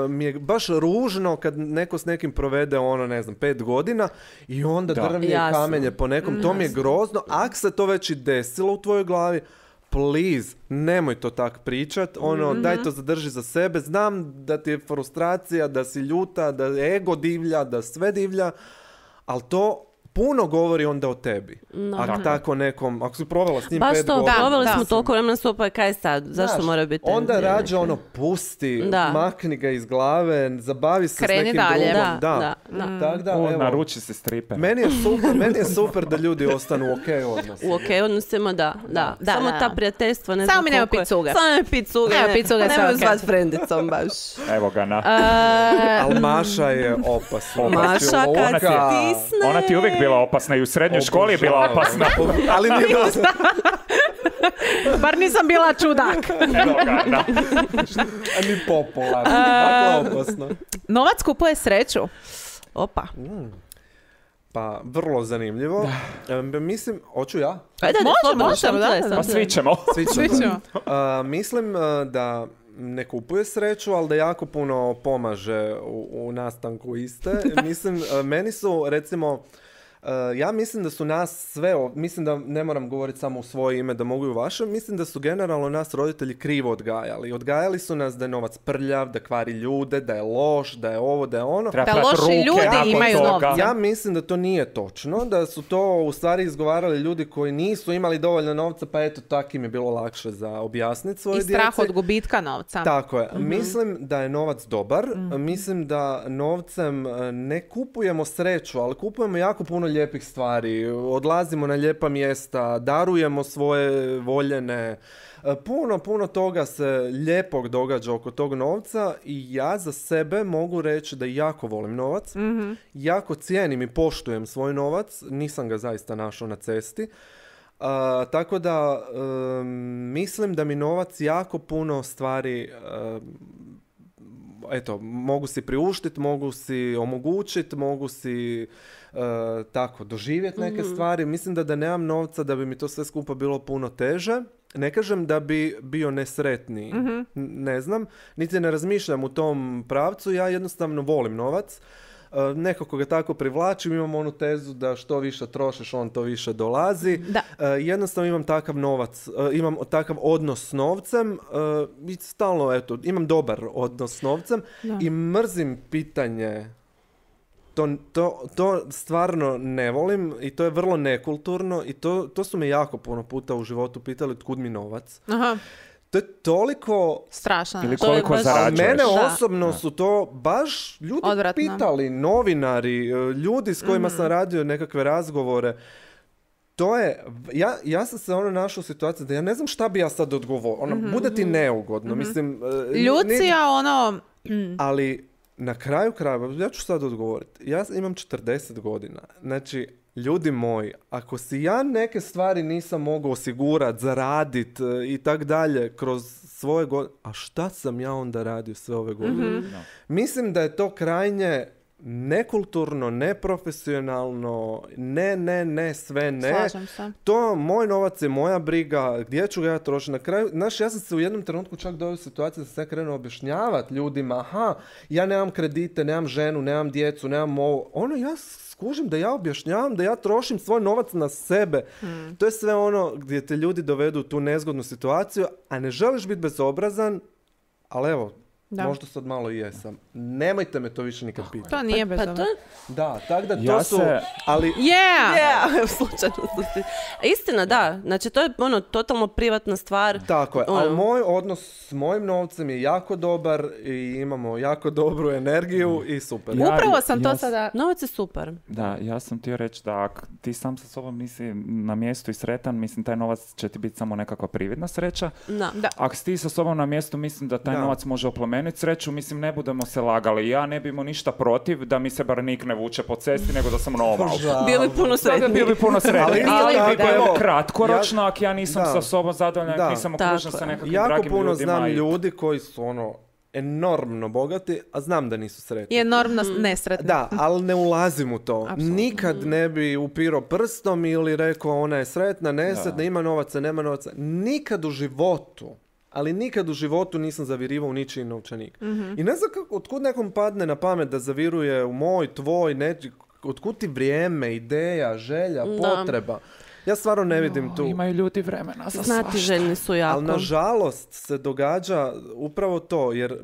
mi je baš ružno kad neko s nekim provede ono, ne znam, pet godina i onda Da. drvlje i Jasno. kamenje po nekom, to mi je grozno. Ako se to već i desilo u tvojoj glavi, please, nemoj to tak pričat, ono, daj to zadrži za sebe, znam da ti je frustracija, da si ljuta, da ego divlja, da sve divlja, ali to puno govori onda o tebi. No. Ako tako nekom, ako si provela s njim Baš pet to, godina. proveli da. smo toliko vremena skupa, kaj sad, zašto Znaš, mora biti? onda tenzija rađe neka? ono pusti, Da. makni ga iz glave, zabavi se Kreni s nekim dalje. drugom. Da, da, da. Tak da, U, evo, naruči se stripe. meni je super, meni je super da ljudi ostanu u okej odnosu. U okej odnosima, da, da. Da, Samo da. ta prijateljstva, ne Samo znam mi nema koliko je- pit cuge. Samo nema pit cuge. Nema ne. pit cuge, sve Nemoj okej. zvat frendicom baš. Evo ga na... Ali Maša je opasna. Maša, Znači, kad Luka- se stisne. Ona ti je uvijek bila opasna i u srednjoj školi je bila Obožavam. opasna. Ali nije bila Bar nisam bila čudak. Evo ga na... ni popularna. Dakle, opasno. Novac kupuje sreću. Opa. Pa, vrlo zanimljivo. E, mislim, hoću ja? Ajde, Može, slobodno, može, samo da, tle, da. samo Pa tle. svi ćemo. Svi Svi ćemo. ćemo. A, mislim a, da ne kupuje sreću, ali da jako puno pomaže u, u nastanku iste. Mislim, a, meni su, recimo, a, ja mislim da su nas sve, ov- mislim da ne moram govoriti samo u svoje ime, da mogu i u vaše, mislim da su generalno nas roditelji krivo odgajali. Odgajali su nas da je novac prljav, da kvari ljude, da je loš, da je ovo, da je ono. Treba Da prat loši ruke ljudi nakon imaju toga. novca. Ja mislim da to nije točno, da su to u stvari izgovarali ljudi koji nisu imali dovoljno novca, pa eto, tak im je bilo lakše za objasniti svoje I strah djeci. od gubitka novca. Tako je. Mislim da je novac dobar. Mislim da novcem e, ne kupujemo sreću, ali kupujemo jako puno lijepih stvari. Odlazimo na lijepa mjesta, darujemo svoje voljene. E, Puno, puno toga se lijepog događa oko tog novca i ja za sebe mogu reći da jako volim novac. Jako cijenim i poštujem svoj novac. Nisam ga zaista našao na cesti. A, tako da em, mislim da mi novac jako puno stvari em, eto, mogu si priuštiti, mogu si omogućiti, mogu si e, tako doživjeti neke stvari. Mislim da da nemam novca da bi mi to sve skupa bilo puno teže. Ne kažem da bi bio nesretniji. N- Ne znam, niti ne razmišljam u tom pravcu. Ja jednostavno volim novac. E, Nekako ga tako privlačim, imam onu tezu da što više trošiš, on to više dolazi. Da. E, jednostavno imam takav novac, e, imam takav odnos s novcem e, i stalno, eto, imam dobar odnos s novcem i mrzim pitanje. To, to, to stvarno ne volim i to je vrlo nekulturno i to, to su me jako puno puta u životu pitali otkud mi novac. Aha, To je toliko... strašno. Ili To je koliko baš- A zarađuješ. mene Da. osobno su to baš ljudi Odvratno. pitali, novinari, e, ljudi s kojima sam radio nekakve razgovore. To je, ja, ja sam se ono našao u situaciji da ja ne znam šta bi ja sad odgovorio. Ono, bude ti neugodno. Mislim, e, ni- Ljucija, ono... ali na kraju krajeva, ja ću sad odgovoriti. Ja imam četrdeset godina. Znači, ljudi moji, ako si ja neke stvari nisam mogao osigurati, zaraditi i tak dalje kroz svoje godine, a šta sam ja onda radio sve ove godine? Mislim da je to krajnje nekulturno, neprofesionalno, ne, ne, ne, sve ne. Slažem se. To, moj novac je moja briga, gdje ću ga ja trošiti. Na kraju, znaš, ja sam se u jednom trenutku čak doveo u situaciju da sam se krenuo objašnjavati ljudima, aha, ja nemam kredite, nemam ženu, nemam djecu, nemam ovo. Ono, ja skužim da ja objašnjavam, da ja trošim svoj novac na sebe. To je sve ono gdje te ljudi dovedu u tu nezgodnu situaciju, a ne želiš biti bezobrazan, ali evo, Da. možda sad malo i jesam. Nemojte me to više nikad pitati. To nije bez Pa to je... Da, tako da to Ja su, se- ali Yeah! Yeah, slučajno sam si- Istina, da. Znači, to je ono, totalno privatna stvar. tako je, Ono. ali moj odnos s mojim novcem je jako dobar i imamo jako dobru energiju i super. Ja- Upravo sam to ja s- sada... Novac je super. Da, ja sam htio reći da ak ti sam sa sobom nisi na mjestu i sretan, mislim taj novac će ti biti samo nekakva prividna sreća. Da. Da. Ako si ti sa sobom na mjestu, mislim da taj Da. novac može oplemeniti sreću, mislim ne budemo se lagali. Ja ne bi imao ništa protiv da mi se bar nik ne vuče po cesti, nego da sam normal. Bio bi puno Toga sretniji. bio bi puno Ali sretniji. isto Ali, tako, bi bilo evo, kratkoročno, ako ja nisam da. sa sobom zadovoljan, Da. ako nisam Tako okružen je. sa nekakvim Jako dragim puno ljudima. znam i- ljudi koji su ono enormno bogati, a znam da nisu sretni. Je enormno nesretno. Da, ali ne ulazim u to. Apsolutno. Nikad ne bi upirao prstom ili rekao ona je sretna, nesretna, Da. ima novaca, nema novaca. Nikad u životu, ali nikad u životu nisam zavirivao u ničiji novčanik. I ne znam kako, otkud nekom padne na pamet da zaviruje u moj, tvoj, neči, otkud ti vrijeme, ideja, želja, Da. potreba. Ja stvarno ne vidim tu. Imaju ljudi vremena za Znati svašta. željni su jako. Ali nažalost se događa upravo to, jer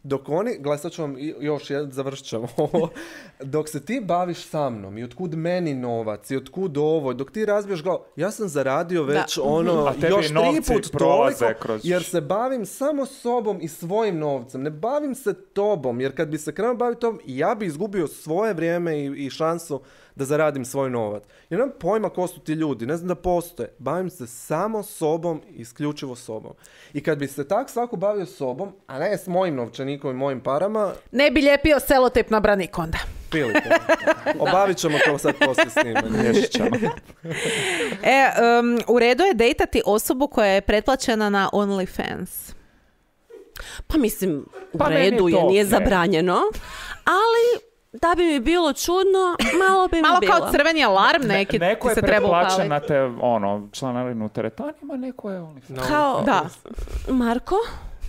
Dok oni, gledaj sad ću vam i- još jedan, završit ćemo ovo, dok se ti baviš sa mnom i otkud meni novac i otkud ovo, dok ti razbiješ glavu, ja sam zaradio već ono A tebi još tri novci put prolaze toliko, kroz- jer se bavim samo sobom i svojim novcem, ne bavim se tobom, jer kad bi se krenuo baviti tobom, ja bi izgubio svoje vrijeme i, i šansu da zaradim svoj novac. Ja nemam pojma ko su ti ljudi, ne znam da postoje. Bavim se samo sobom, isključivo sobom. I kad bi se tak svako bavio sobom, a ne s mojim novčanikom i mojim parama, Ne bi lijepio selotip na branik onda. pilite. Obavit ćemo to sad poslije snimanja. Riješit ćemo. E, um, u redu je dejtati osobu koja je pretplaćena na OnlyFans. Pa mislim, u Pa meni je redu je, to nije okej. zabranjeno, ali da bi mi bilo čudno, malo bi mi Malo bilo. kao crveni alarm neki Neko ti je se treba pretplaćen upaliti. na te, ono, članarinu u teretanima, neko je OnlyFans. Kao, Da. Marko?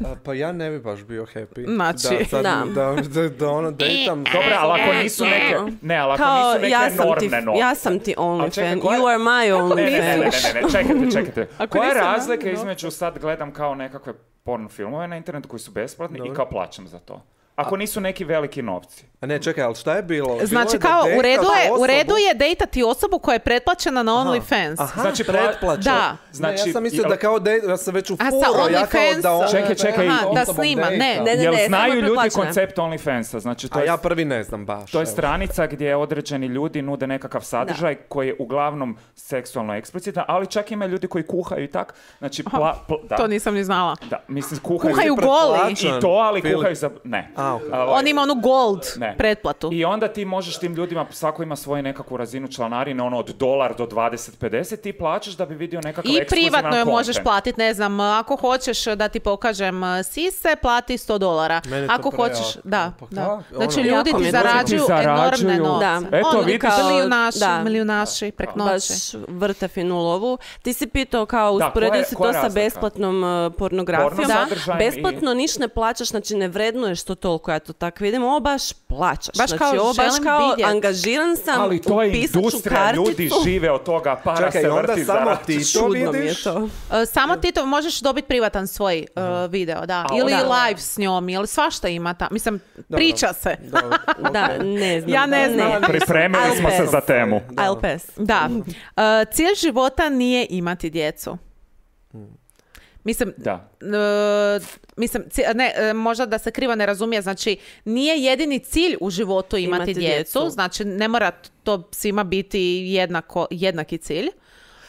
A, pa ja ne bi baš bio happy. Znači, da, sad, da. da, da, da ono dejtam. Dobro, ali ako nisu neke, ne, ali ako Kao, nisu neke ja sam, ti, normne novce. ja sam ti čekaj, OnlyFans, koja- you are my Ne, ne, ne, ne, OnlyFans. ne, ne, čekajte, čekajte. Ako Koja je nisam, razlika da, između sad gledam kao nekakve porno filmove na internetu koji su besplatni Dobro. i kao plaćam za to? Ako nisu neki veliki novci. A ne, čekaj, ali šta je bilo? Bilo Znači je da kao u dejtaš redu je, u osobu- redu je dejtati osobu koja je pretplaćena na OnlyFans. Aha, Znači, pla- pretplaća. Da. Znači, Znači, ja sam mislio jel- da kao dej, ja sam već u A sa furo, ja kao OnlyFans- da ona Čekaj, čekaj, Aha, da osobom snima, dejta. ne, Ne, ne, Jel ne, samo znaju je ljudi pretplaćena. koncept OnlyFansa? Znači, to A je, ja prvi ne znam baš. to je evo. stranica gdje određeni ljudi nude nekakav sadržaj koji je uglavnom seksualno eksplicitan, ali čak ima ljudi koji kuhaju i tak. Znači, pla, pla- da, To nisam ni znala. da, mislim, kuhaju, Kuhaju Ti goli. pretplaćan i to, ali film. kuhaju za... Ne. A, ok. A, ovaj, On ima onu gold Ne. pretplatu. I onda ti možeš tim ljudima, svako ima svoju nekakvu razinu članarine, ono od dolar do dvadeset pedeset, ti plaćaš da bi vidio nekakav I ekskluzivan privatno je content. možeš platiti, ne znam, ako hoćeš da ti pokažem uh, sise, plati sto dolara. Meni je to Ako prejako. hoćeš, da, Pa da. kako? Znači Ono- ljudi Jako mi ti je to- zarađuju Ti enormne zarađuju. novce. Da. Eto, Ono vidiš. kao- milijunaši, da. milijunaši prek Baš noći. vrte finu lovu. Ti si pitao kao Da, usporedio koja je- si koja to je sa razlika? besplatnom uh, pornografijom. Porno Da. sadržajem Besplatno niš ne plaćaš, znači ne vrednuješ to toliko, ja to tako vidim. Ovo baš plaćaš. Baš znači, kao ovo baš želim kao vidjet. angažiran sam, Ali to je upisat ću industrija, karticu. ljudi žive od toga, para Čekaj, se onda vrti, samo zarađuje. ti to Čudno mi je vidiš? to. Uh, Samo ti to možeš dobiti privatan svoj uh, video, da. A Ili onda- live s njom, ili svašta ima ta. Mislim, priča se. Dobro, Da, ne znam. Ja ne znam. Pripremili I'll smo se pass. za temu. I'll pass. Da. Uh, cilj života nije imati djecu. Mislim, Da. e, mislim, ci- ne, e, možda da se krivo ne razumije, znači nije jedini cilj u životu imati, Imati djecu, djecu. znači ne mora to svima biti jednako, jednaki cilj.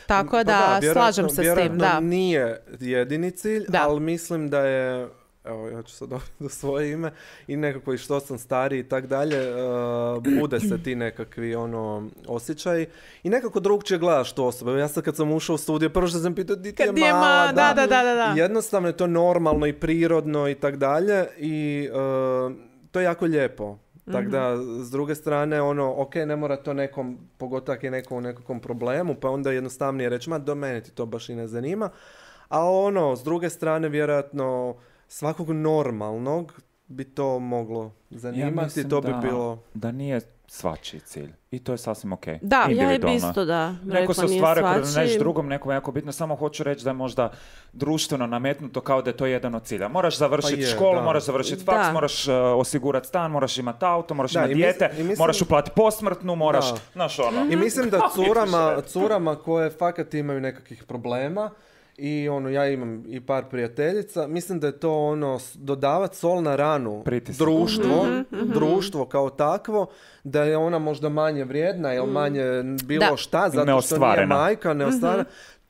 Tako Pa da, vjerojatno- slažem se s tim, vjerojatno da. nije jedini cilj, Da. ali mislim da je, evo ja ću sad dobiti do svoje ime, i nekako i što sam stariji i tak dalje, uh, bude se ti nekakvi ono osjećaji i nekako drugčije gledaš tu osobu. Evo, ja sad kad sam ušao u studiju, prvo što sam pitao di ti je Kad je mala, ma- da, da, da, da, da. Jednostavno je to normalno i prirodno i tak dalje i uh, to je jako lijepo. Tako da, s druge strane, ono, ok, ne mora to nekom, pogotovo ako je neko u nekakvom problemu, pa onda jednostavnije reći, ma do mene ti to baš i ne zanima. A ono, s druge strane, vjerojatno, svakog normalnog bi to moglo zanimati, mislim to bi da- bilo... Da nije svačiji cilj. I to je sasvim ok. Da, ja i Ja bi Individualno. isto da. Neko rekla, se nije ostvaruje kroz svačiji. nešto drugom, nekom jako bitno. Samo hoću reći da je možda društveno nametnuto kao da je to jedan od cilja. Moraš završiti Pa je, školu, da. moraš završiti faks, Da. moraš uh, osigurati stan, moraš imati auto, moraš Da, imati i mis- dijete, i mislim- moraš uplatiti posmrtnu, moraš, Da. znaš ono. I mislim da Kako curama, ideš curama koje fakat imaju nekakvih problema i ono, ja imam i par prijateljica, mislim da je to ono, s- dodavat sol na ranu Pritisak. društvo, društvo kao takvo, da je ona možda manje vrijedna ili manje bilo Da. šta, zato što nije Neostvarena. majka, neostvarena.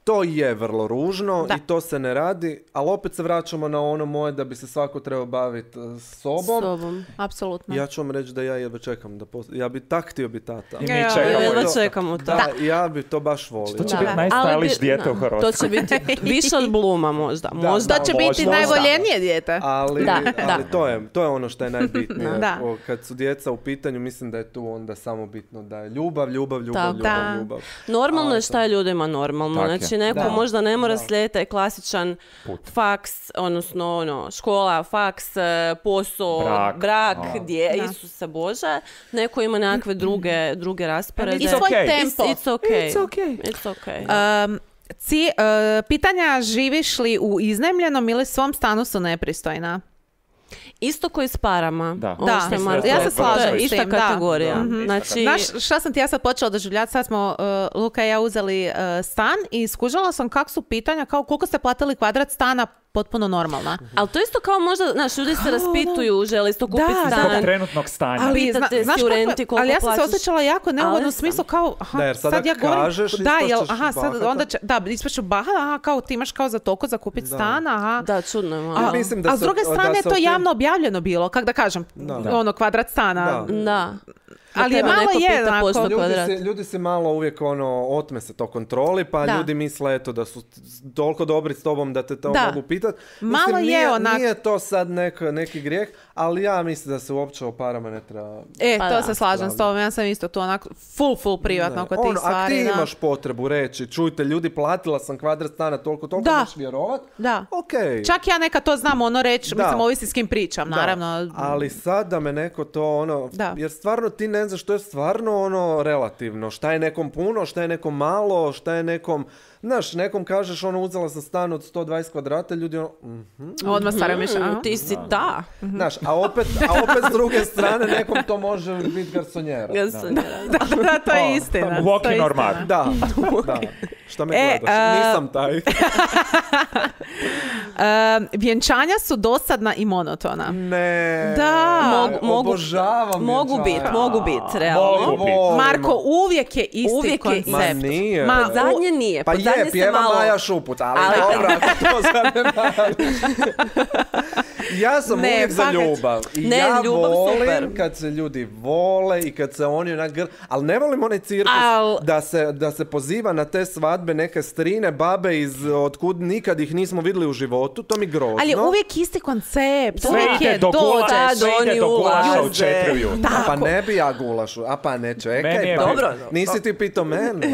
To je vrlo ružno Da. i to se ne radi, ali opet se vraćamo na ono moje da bi se svako trebao baviti uh, sobom. Sobom. Apsolutno. Ja ću vam reći da ja jedva čekam da post... ja bi tak htio biti tata. I mi Ja, čekamo. Ja jedva to- čekamo to. Da, ja bi to baš volio. To će Da. biti Ali najstajliš bi- dijete u da, Hrvatskoj. To će biti više od Bluma možda. Možda. To će Možda. biti Možda. najvoljenije dijete. Ali, Da, ali da. To, je, to je ono što je najbitnije. Da. O, kad su djeca u pitanju, mislim da je tu onda samo bitno da je ljubav, ljubav, ljubav, Tako. ljubav, Da. ljubav. Normalno je Ali šta je ljudima normalno. Tak je. Znači neko Da. možda ne mora Da. slijediti taj klasičan faks, odnosno ono, škola, faks, e, posao, Brak. brak, A. gdje, Da. Isuse Bože. Neko ima nekakve druge, druge rasporede. I svoj okay. tempo. It's, it's okay. It's okay. It's okay. Um, ci, uh, pitanja živiš li u iznajmljenom ili svom stanu su nepristojna? Isto koji s parama. Da. Ovo Da, što je mislim Marko da je to ja se rekao, to je slažem s ista tim, da. kategorija. Da, ista Znači, Znaš šta sam ti ja sad počela doživljati? Sad smo uh, Luka i ja uzeli uh, stan i skužila sam kak su pitanja kao koliko ste platili kvadrat stana, potpuno normalna. ali to isto kao možda, znaš, ljudi se raspituju, žele isto kupiti Da, stan. Zbog trenutnog stanja. Ali, Pitate zna- si u kako- renti koliko ali ja sam se plaćaš. osjećala jako neugodno Ali u smislu sam. kao, aha, Da, jer sada sad ja govorim, kažeš, da, jel, ispašćeš aha, sad bahata. onda će, da, ispašću baha, aha, kao ti imaš kao za toliko za kupiti stan, aha. Da, čudno je malo. Ja mislim da A s se- druge da strane je se to o tim- javno objavljeno bilo, kak da kažem, Da. ono, kvadrat stana. Da. Da. Ali je Treba malo neko je, pita onako, pošto Ljudi kvadrat. se, ljudi se malo uvijek ono, otme se to kontroli, pa Da. ljudi misle eto da su toliko dobri s tobom da te to Da. mogu pitat. Malo Mislim, je nije, onak- nije to sad nek, neki grijeh, ali ja mislim da se uopće o parama ne treba... E, Pa to da. se slažem s tobom, ja sam isto tu onako full, full privatno Ne. oko Ono, tih stvari. Ako ti da. imaš potrebu reći, čujte ljudi, platila sam kvadrat stana toliko, toliko, Da. možeš vjerovat? Da. Okej. Čak ja nekad to znam ono reći, Da. mislim, ovisi s kim pričam, Da. naravno. Ali sad da me neko to ono, Da. jer stvarno ti ne znaš što je stvarno ono relativno, šta je nekom puno, šta je nekom malo, šta je nekom, znaš, nekom kažeš ono uzela sam stan od sto dvadeset kvadrata, ljudi ono, mhm. Odmah stvarno mišlja, aha. Mm, ti si ta. Znaš, a opet, a opet s druge strane nekom to može biti garsonjera. Garsonjera. Da, da, to je istina. Walk to je in or istina. mug. Da, da. Šta me E, gledaš? a- Nisam taj. E, vjenčanja su dosadna i monotona. Ne. Da. Mogu- mogu- Obožavam Mogu vjenčanja. bit, mogu bit, realno. Mogu bit. Volimo. Marko, uvijek je isti Uvijek je koncept. isti. Ma nije. Ma, Pod zadnje nije. Pa pod zadnje je, se pjeva malo... Maja Šuput, ali, Ali- dobro, ako to zanemariš. Ja sam Ne, uvijek za fakat. ljubav. I Ne, ja ljubav volim super. kad se ljudi vole i kad se oni onak gr... Ali ne volim onaj cirkus Al- da, se, da se poziva na te svadbe neke strine, babe iz otkud nikad ih nismo vidjeli u životu. To mi grozno. Ali je uvijek isti koncept. Sve uvijek ide je do gulaša, dođeš. sve ide oni do gulaša u ulaze. četiri ujutro. A pa ne bi ja gulašu. A pa ne, čekaj. Meni je- pa. Dobro. Nisi ti pitao mene.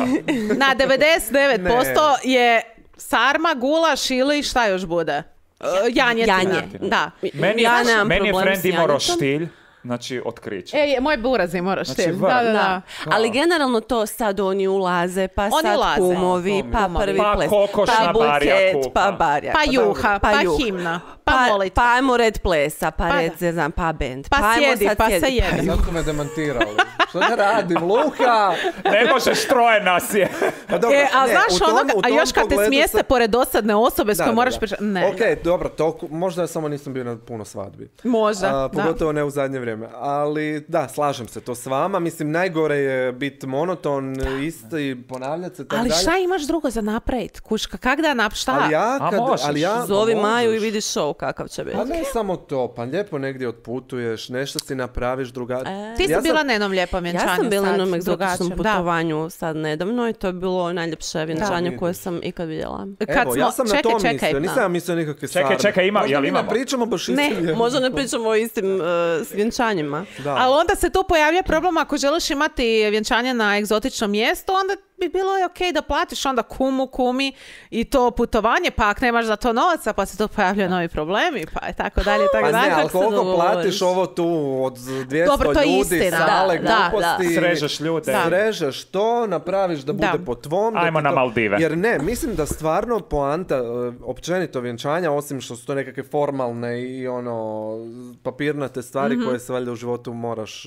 Na devedeset devet posto je sarma, gulaš ili šta još bude? Uh, janjetina. Janje. Da. Meni je, Ja nemam meni je problem friend s imao janjetom. roštilj, znači otkriće. E, je, moj buraz je moraš Znači, tim. vrh. Da, da, da. Da. Ali generalno to sad oni ulaze, pa Oni sad ulaze. kumovi, To mi- pa Kumovi. prvi Pa ples, kokoš pa na buket, barjaku, pa pa- barjak. Pa juha, pa, juh. himna, pa, Pa, molitva. pa ajmo red plesa, pa, Pa red, da. ne znam, pa band. Pa ajmo sjedi, sad pa se sjedi. jede. Sad su me demantirali. Što da radim, Luka? Ne možeš, troje nas je. Pa dobro, E, a ne, znaš u tom- ono, u a tom još kad te pogledu smjeste sam- pored dosadne osobe s Da, kojom da, moraš da. pričati. Ne. Ok, dobro, to, možda ja samo nisam bio na puno svadbi. Možda, A, da. pogotovo ne u zadnje vrijeme. Ali da, slažem se to s vama. Mislim, najgore je biti monoton, isti, ponavljati se, tako Ali dalje. šta imaš drugo za napravit? Kuška, kak da napraviš? Šta? Ali ja, A kad, možeš. ali ja, Zovi pa Maju i možeš. vidi show kakav će biti. Pa ne samo to, pa lijepo negdje otputuješ, nešto si napraviš drugačije. Ti si Ja sam- bila na jednom lijepom vjenčanju. Ja sam bila sad, na jednom egzotičnom drugačijem, da. putovanju sad nedavno i to je bilo najljepše vjenčanje Da. koje sam ikad vidjela. Kad Evo, smo, ja sam čekaj, na to čekaj. mislio, nisam ja mislio nikakve Čekaj, sarme. čekaj, ima- Možda jel mi imamo? ne pričamo baš Ne, istim Možda ne pričamo o istim uh, s vjenčanjima. Da. Ali onda se tu pojavlja problem ako želiš imati vjenčanje na egzotičnom mjestu, onda bi bilo je okej da platiš onda kumu, kumi i to putovanje, pa ako nemaš za to novaca, pa se tu pojavljaju novi problemi, pa je tako dalje, tako Pa dalje. ne, ali kako se koliko dogovoriš? platiš ovo tu od dvjesto Dobro, to je ljudi, istina. sale, Da, da, gluposti. Srežeš ljude. Da. Srežeš to, napraviš da bude Da. po tvom. da Ajmo ti na to- Maldive. Jer ne, mislim da stvarno poanta, e, općenito vjenčanja, osim što su to nekakve formalne i ono papirnate stvari Mhm. koje se valjda u životu moraš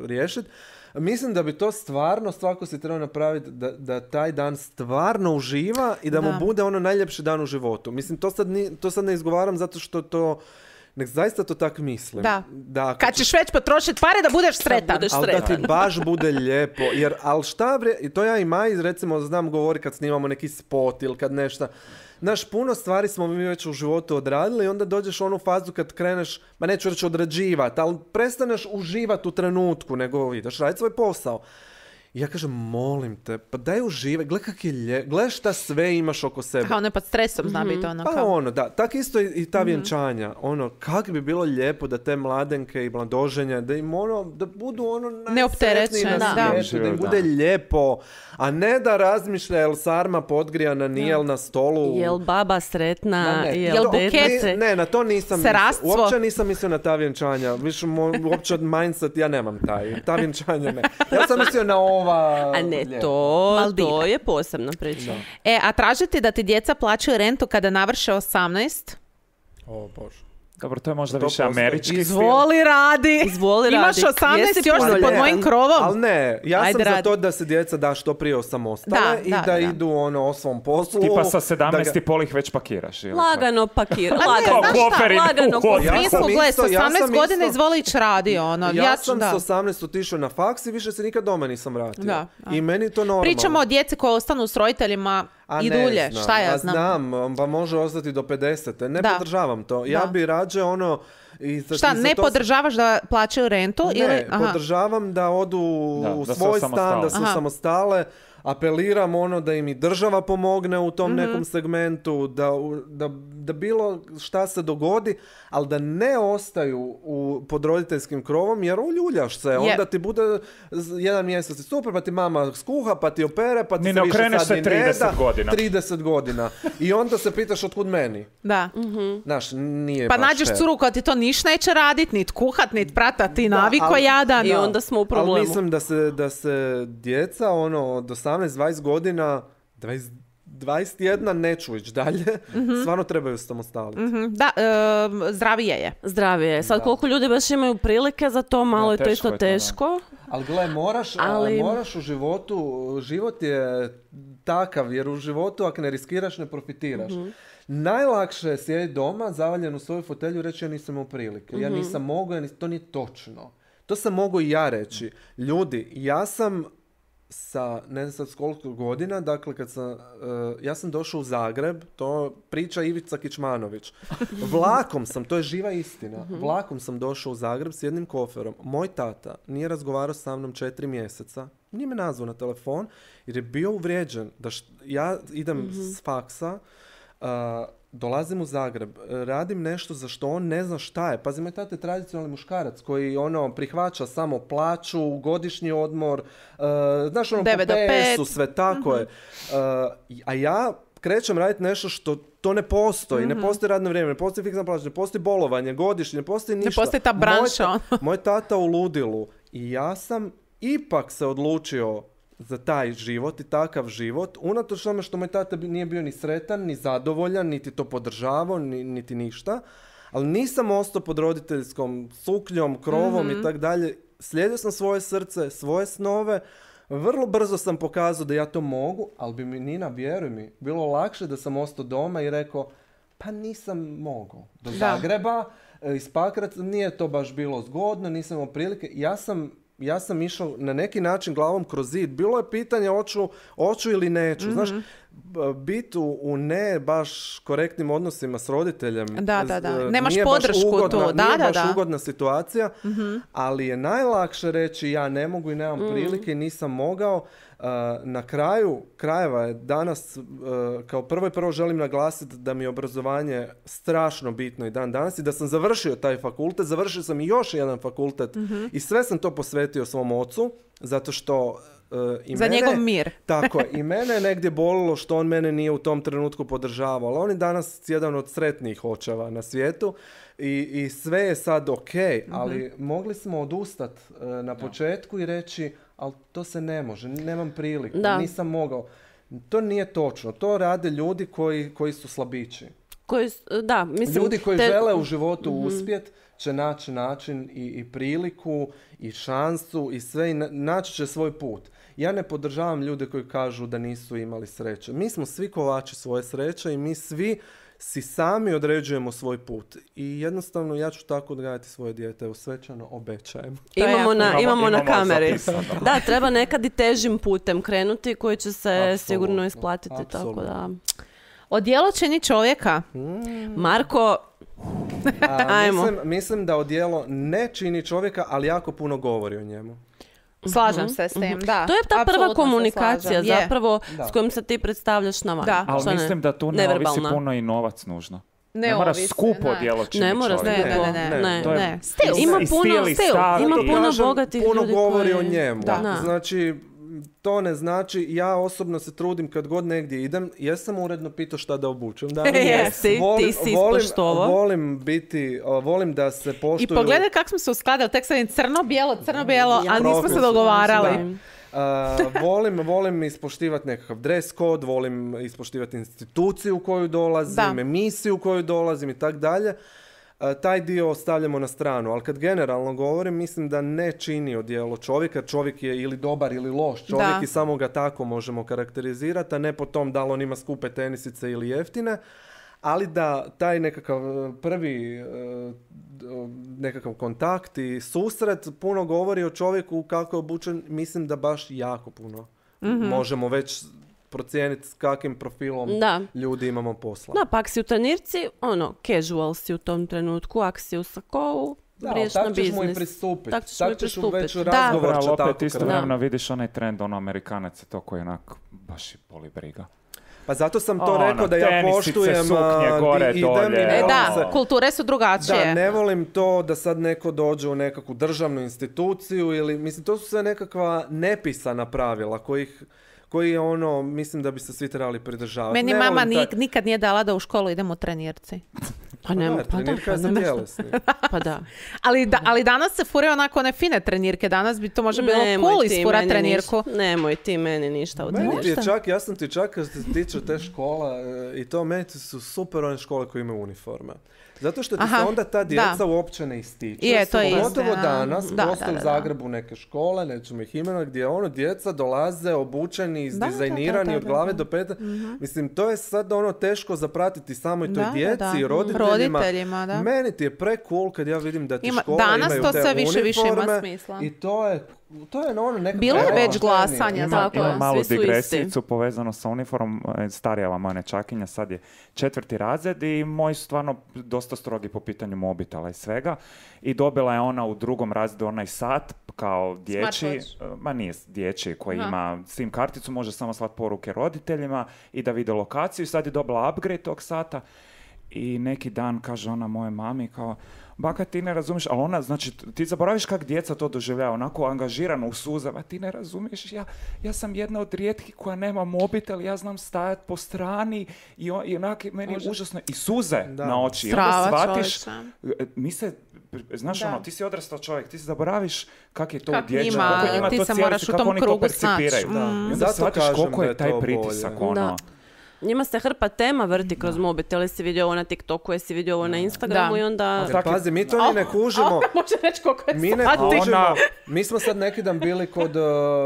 riješiti, mislim da bi to stvarno svako si trebao napraviti da, da taj dan stvarno uživa i da, Da. mu bude ono najljepši dan u životu. Mislim, to sad, ni, to sad ne izgovaram zato što to, nek zaista to tak mislim. Da. da ako Kad ćeš već potrošiti pare da budeš sretan. budeš ali da ti sretan. baš bude lijepo. Jer, ali šta bre, i to ja i Maji, recimo, znam govori kad snimamo neki spot ili kad nešto. Znaš, puno stvari smo mi već u životu odradili i onda dođeš u onu fazu kad kreneš, ma neću reći odrađivati, ali prestaneš uživati u trenutku, nego ideš raditi svoj posao. I ja kažem, molim te, pa daj uživaj, gle kak je lijepo, gle šta sve imaš oko sebe. Kao ne pod stresom zna biti ono Pa kao. ono, da, tak isto i, i ta Mhm. vjenčanja, ono, kak bi bilo lijepo da te mladenke i mladoženje, da im ono, da budu ono najsretniji Neopterećene, na da. svijetu, da im Da. bude lijepo, a ne da razmišlja jel sarma podgrijana, nije jel na stolu. Jel baba sretna, Ma ne, jel to- dete? ni- Ne, na to nisam Serastwo. mislio. Uopće nisam mislio na ta vjenčanja. Više mo- uopće od mindset, ja nemam taj. Ta vjenčanja ne. Ja sam mislio na ova... A ne, lijepa. to, Maldive. to je posebna priča. E, a tražiti da ti djeca plaćaju rentu kada navrše osamnaest? O, Bože. Dobro, to je možda To više postoji. američki stil. Izvoli radi. Izvoli Imaš radi. osamnaest Jesi još si punoljetan? pod mojim krovom. Ali ne, ja Ajde, sam za radi. to da se djeca da što prije osamostale Da, i da, da, da. idu ono o svom poslu. Tipa sa da sedamnaest ga- i pol ih već pakiraš. ili? Lagano pakir. ne, Lagano. znaš šta, Koferin lagano u hodu. U Ja smislu, sam gle, isto- s ja osamnaest sam godina isto- izvoli ići radi, ono. Ja, Ja, sam da. s osamnaest otišao na faks i više se nikad doma nisam vratio. Da, da. I meni je to normalno. Pričamo o djeci koje ostanu s roditeljima A i ne dulje. znam, Šta ja a znam? znam, pa može ostati do pedesete. Ne Da. podržavam to. Ja Da. bi rađe ono... I za, Šta, i za ne to sam- podržavaš da plaćaju rentu? Ne, ili? Aha. podržavam da odu Da, u da se svoj stan, osamostale. da se Aha. samostale. Apeliram ono da im i država pomogne u tom Mhm. nekom segmentu, da, u- da, da bilo šta se dogodi, ali da ne ostaju u, pod roditeljskim krovom, jer uljuljaš se. Onda ti bude z- jedan mjesec i super, pa ti mama skuha, pa ti opere, pa ti Ni se ne više okreneš sad se ni ne trideset da. godina. trideset godina. I onda se pitaš otkud meni. Da. Znaš, nije Pa baš nađeš fair. curu koja ti to niš neće radit, nit kuhat, nit pratat, ti naviko ali- jadan. I onda smo u Ali problemu. mislim da se, da se djeca ono, od osamnaest dvadeset godina, dvadeset, dvadeset jedan neću ići dalje, stvarno trebaju samostaliti. Mhm, Da, e, zdravije je. Zdravije. Sad koliko ljudi baš imaju prilike za to, malo Da, je to teško isto je to, da. teško. Ali gle, moraš, Ali- a, moraš u životu, život je takav, jer u životu ako ne riskiraš, ne profitiraš. Najlakše je sjediti doma, zavaljen u svoju fotelju i reći ja nisam imao prilike. Ja nisam mogao, ja nis- to nije točno. To sam mogao i ja reći. Ljudi, ja sam sa, ne znam sad s koliko godina, dakle kad sam, e, ja sam došao u Zagreb, to priča Ivica Kičmanović. Vlakom sam, to je živa istina, vlakom sam došao u Zagreb s jednim koferom. Moj tata nije razgovarao sa mnom četiri mjeseca, nije me nazvao na telefon jer je bio uvrijeđen da št- ja idem s faksa, Uh, dolazim u Zagreb, radim nešto za što on ne zna šta je. Pazi, moj tata je tradicionalni muškarac koji ono prihvaća samo plaću, godišnji odmor, uh, znaš ono devet po do pet. pesu, sve tako je. Uh, a ja krećem raditi nešto što to ne postoji. Ne postoji radno vrijeme, ne postoji fiksna plaća, ne postoji bolovanje, godišnje, ne postoji ništa. postoji ta branša, Moj, ono. ta- moj tata u ludilu. I ja sam ipak se odlučio za taj život i takav život, unatoč tome što moj tata bi- nije bio ni sretan, ni zadovoljan, niti to podržavao, ni, niti ništa, ali nisam ostao pod roditeljskom sukljom, krovom i tak dalje. Slijedio sam svoje srce, svoje snove, vrlo brzo sam pokazao da ja to mogu, ali bi mi, Nina, vjeruj mi, bilo lakše da sam ostao doma i rekao, pa nisam mogao. Do Da. Zagreba, e, iz Pakraca, nije to baš bilo zgodno, nisam imao prilike. Ja sam ja sam išao na neki način glavom kroz zid. Bilo je pitanje hoću, hoću ili neću. Znaš, b- biti u, u ne baš korektnim odnosima s roditeljem. Da, da, da. z- Nemaš nije baš podršku ugodna, tu. Da, nije da, baš da. ugodna situacija, ali je najlakše reći ja ne mogu i nemam prilike i nisam mogao. Uh, na kraju krajeva je danas, uh, kao prvo i prvo želim naglasiti da mi je obrazovanje strašno bitno i dan danas i da sam završio taj fakultet, završio sam i još jedan fakultet i sve sam to posvetio svom ocu, zato što uh, i Za mene, njegov mir. tako je, i mene je negdje bolilo što on mene nije u tom trenutku podržavao, ali on je danas jedan od sretnijih očeva na svijetu i, i sve je sad ok, ali mogli smo odustati uh, na početku i reći ali to se ne može, nemam priliku, Da. nisam mogao. To nije točno, to rade ljudi koji, koji su slabići. Koji, s- da, mislim... Ljudi koji te- žele u životu uspjet će naći način i, i priliku i šansu i sve i na- naći će svoj put. Ja ne podržavam ljude koji kažu da nisu imali sreće. Mi smo svi kovači svoje sreće i mi svi si sami određujemo svoj put. I jednostavno ja ću tako odgajati svoje dijete, evo svečano obećajem. To je Imamo jako na, Imamo- imamo na imamo kameri. zapisano. Da, treba nekad i težim putem krenuti koji će se Apsolutno, sigurno isplatiti. Tako apsolutno. da. Odijelo čini čovjeka. Marko, A, Ajmo. mislim, mislim da odijelo ne čini čovjeka, ali jako puno govori o njemu. Slažem se s tim, da. to je ta Apsolutno prva se komunikacija slažem. Je. zapravo Da. s kojom se ti predstavljaš na van. Da. Ali Šta ne? mislim da tu ne ovisi Neverbalna. puno i novac nužno. Ne, Ne mora ovisi, skupo ne. djelo čini Ne mora čovjeka. Ne, ne, ne, ne. Ne. To je- ne. Stil. Ima I puno, stil i stil, stav ima i- puno Kažem, bogatih puno ljudi govori koji- o njemu. Da. Znači, to ne znači, ja osobno se trudim kad god negdje idem, jesam uredno pitao šta da obučem. Da, Jesi, ti si ispoštovao. volim biti, o, volim da se I poštuju... pogledaj kako smo se uskladili, tek sad je crno-bijelo, crno-bijelo, Ja. a nismo se Profesionalno, dogovarali. da. Uh, volim, volim ispoštivati nekakav dress code, volim ispoštivati instituciju u koju dolazim, Da. emisiju u koju dolazim i tak dalje. taj dio ostavljamo na stranu, ali kad generalno govorim, mislim da ne čini odijelo čovjeka, čovjek je ili dobar ili loš čovjek Da. i samo ga tako možemo karakterizirati, a ne po tom da li on ima skupe tenisice ili jeftine, ali da taj nekakav prvi e, nekakav kontakt i susret puno govori o čovjeku kako je obučen, mislim da baš jako puno možemo već procijeniti s kakvim profilom Da. ljudi imamo posla. Da, pa ako si u trenirci, ono, casual si u tom trenutku, ako si u sakovu, Da, ali vriješ na tak ćeš mu i biznis. pristupiti. Tak ćeš mu i Tak ćeš pristupiti. već Da. razgovor Ali će opet tako istovremeno krenuti. vidiš onaj trend, ono, Amerikanac je to koji onak baš i boli briga. Pa zato sam to Ono, rekao da ja tenisice, poštujem suknje, a, gore, i- idem dolje. i ne E, volim da, se- kulture su drugačije. Da, ne volim to da sad neko dođe u nekakvu državnu instituciju ili, mislim, to su sve nekakva nepisana pravila kojih, koji je ono, mislim da bi se svi trebali pridržavati. Meni Ne mama volim ni- taj- nikad nije dala da u školu idemo u trenirci. Pa ne, Da, pa da, trenirka pa je za ne, tjelesni. pa da. Ali, da, ali danas se furaju onako one fine trenirke. Danas bi to možda bilo Nemoj cool ti isfurat meni trenirku. ništa- Nemoj ti meni ništa u Meni ti je trenirku. čak, ja sam ti čak kad se tiče te škola e, i to, meni ti su super one škole koje imaju uniforme. Zato što ti Aha, se onda ta djeca da. uopće ne ističu. Je, to je Pogotovo istina. danas, Da, postoje da, u da, da. Zagrebu neke škole, nećemo ih imenovati, gdje ono djeca dolaze obučeni, Da, da, izdizajnirani da, da, od glave da. do pete. Mislim, to je sad ono teško zapratiti samoj toj Da, da, djeci da. i roditeljima. Roditeljima, da. Meni ti je pre cool kad ja vidim da ti Ima- škola danas imaju to te sve više, više ima uniforme smisla. I to je, to je ono nekako... Bilo je evo, već poštenije. glasanja, Ima, tako ima je. malu Svi su digresijicu povezano sa uniformom. e, Starija moja nečakinja, sad je četvrti razred i moji su stvarno dosta strogi po pitanju mobitela i svega. I dobila je ona u drugom razredu onaj sat kao dječji, Smartwatch. ma nije dječji, koji Aha. ima SIM karticu, može samo slati poruke roditeljima i da vide lokaciju. Sad je dobila upgrade tog sata i neki dan kaže ona moje mami kao, baka ti ne razumiješ, ali ona, znači, ti zaboraviš kako djeca to doživljava, onako angažirano u suzama, ti ne razumiješ, ja, ja sam jedna od rijetkih koja nema mobitel, ja znam stajati po strani i, on, i onak, meni je užasno, i suze Da. na oči, i onda Strava, shvatiš, čovječe. e, mi se, znaš Da. ono, ti si odrastao čovjek, ti se zaboraviš kak je to Kak u dječjem, njima, kako njima ti to se cijeli- moraš u kako tom oni to krugu snaći. percipiraju. Da. I onda Zato shvatiš kažem koliko da je je taj to pritisak, bolje. ono. Da. Njima se hrpa tema vrti kroz mobitel, jesi vidio ovo na TikToku, jesi vidio ovo na Instagramu Da. i onda... Jer Tako je- pazi, mi to ni ne kužimo. Može reći koliko je Mi ne sati. kužimo. Ona- Mi smo sad neki dan bili kod uh,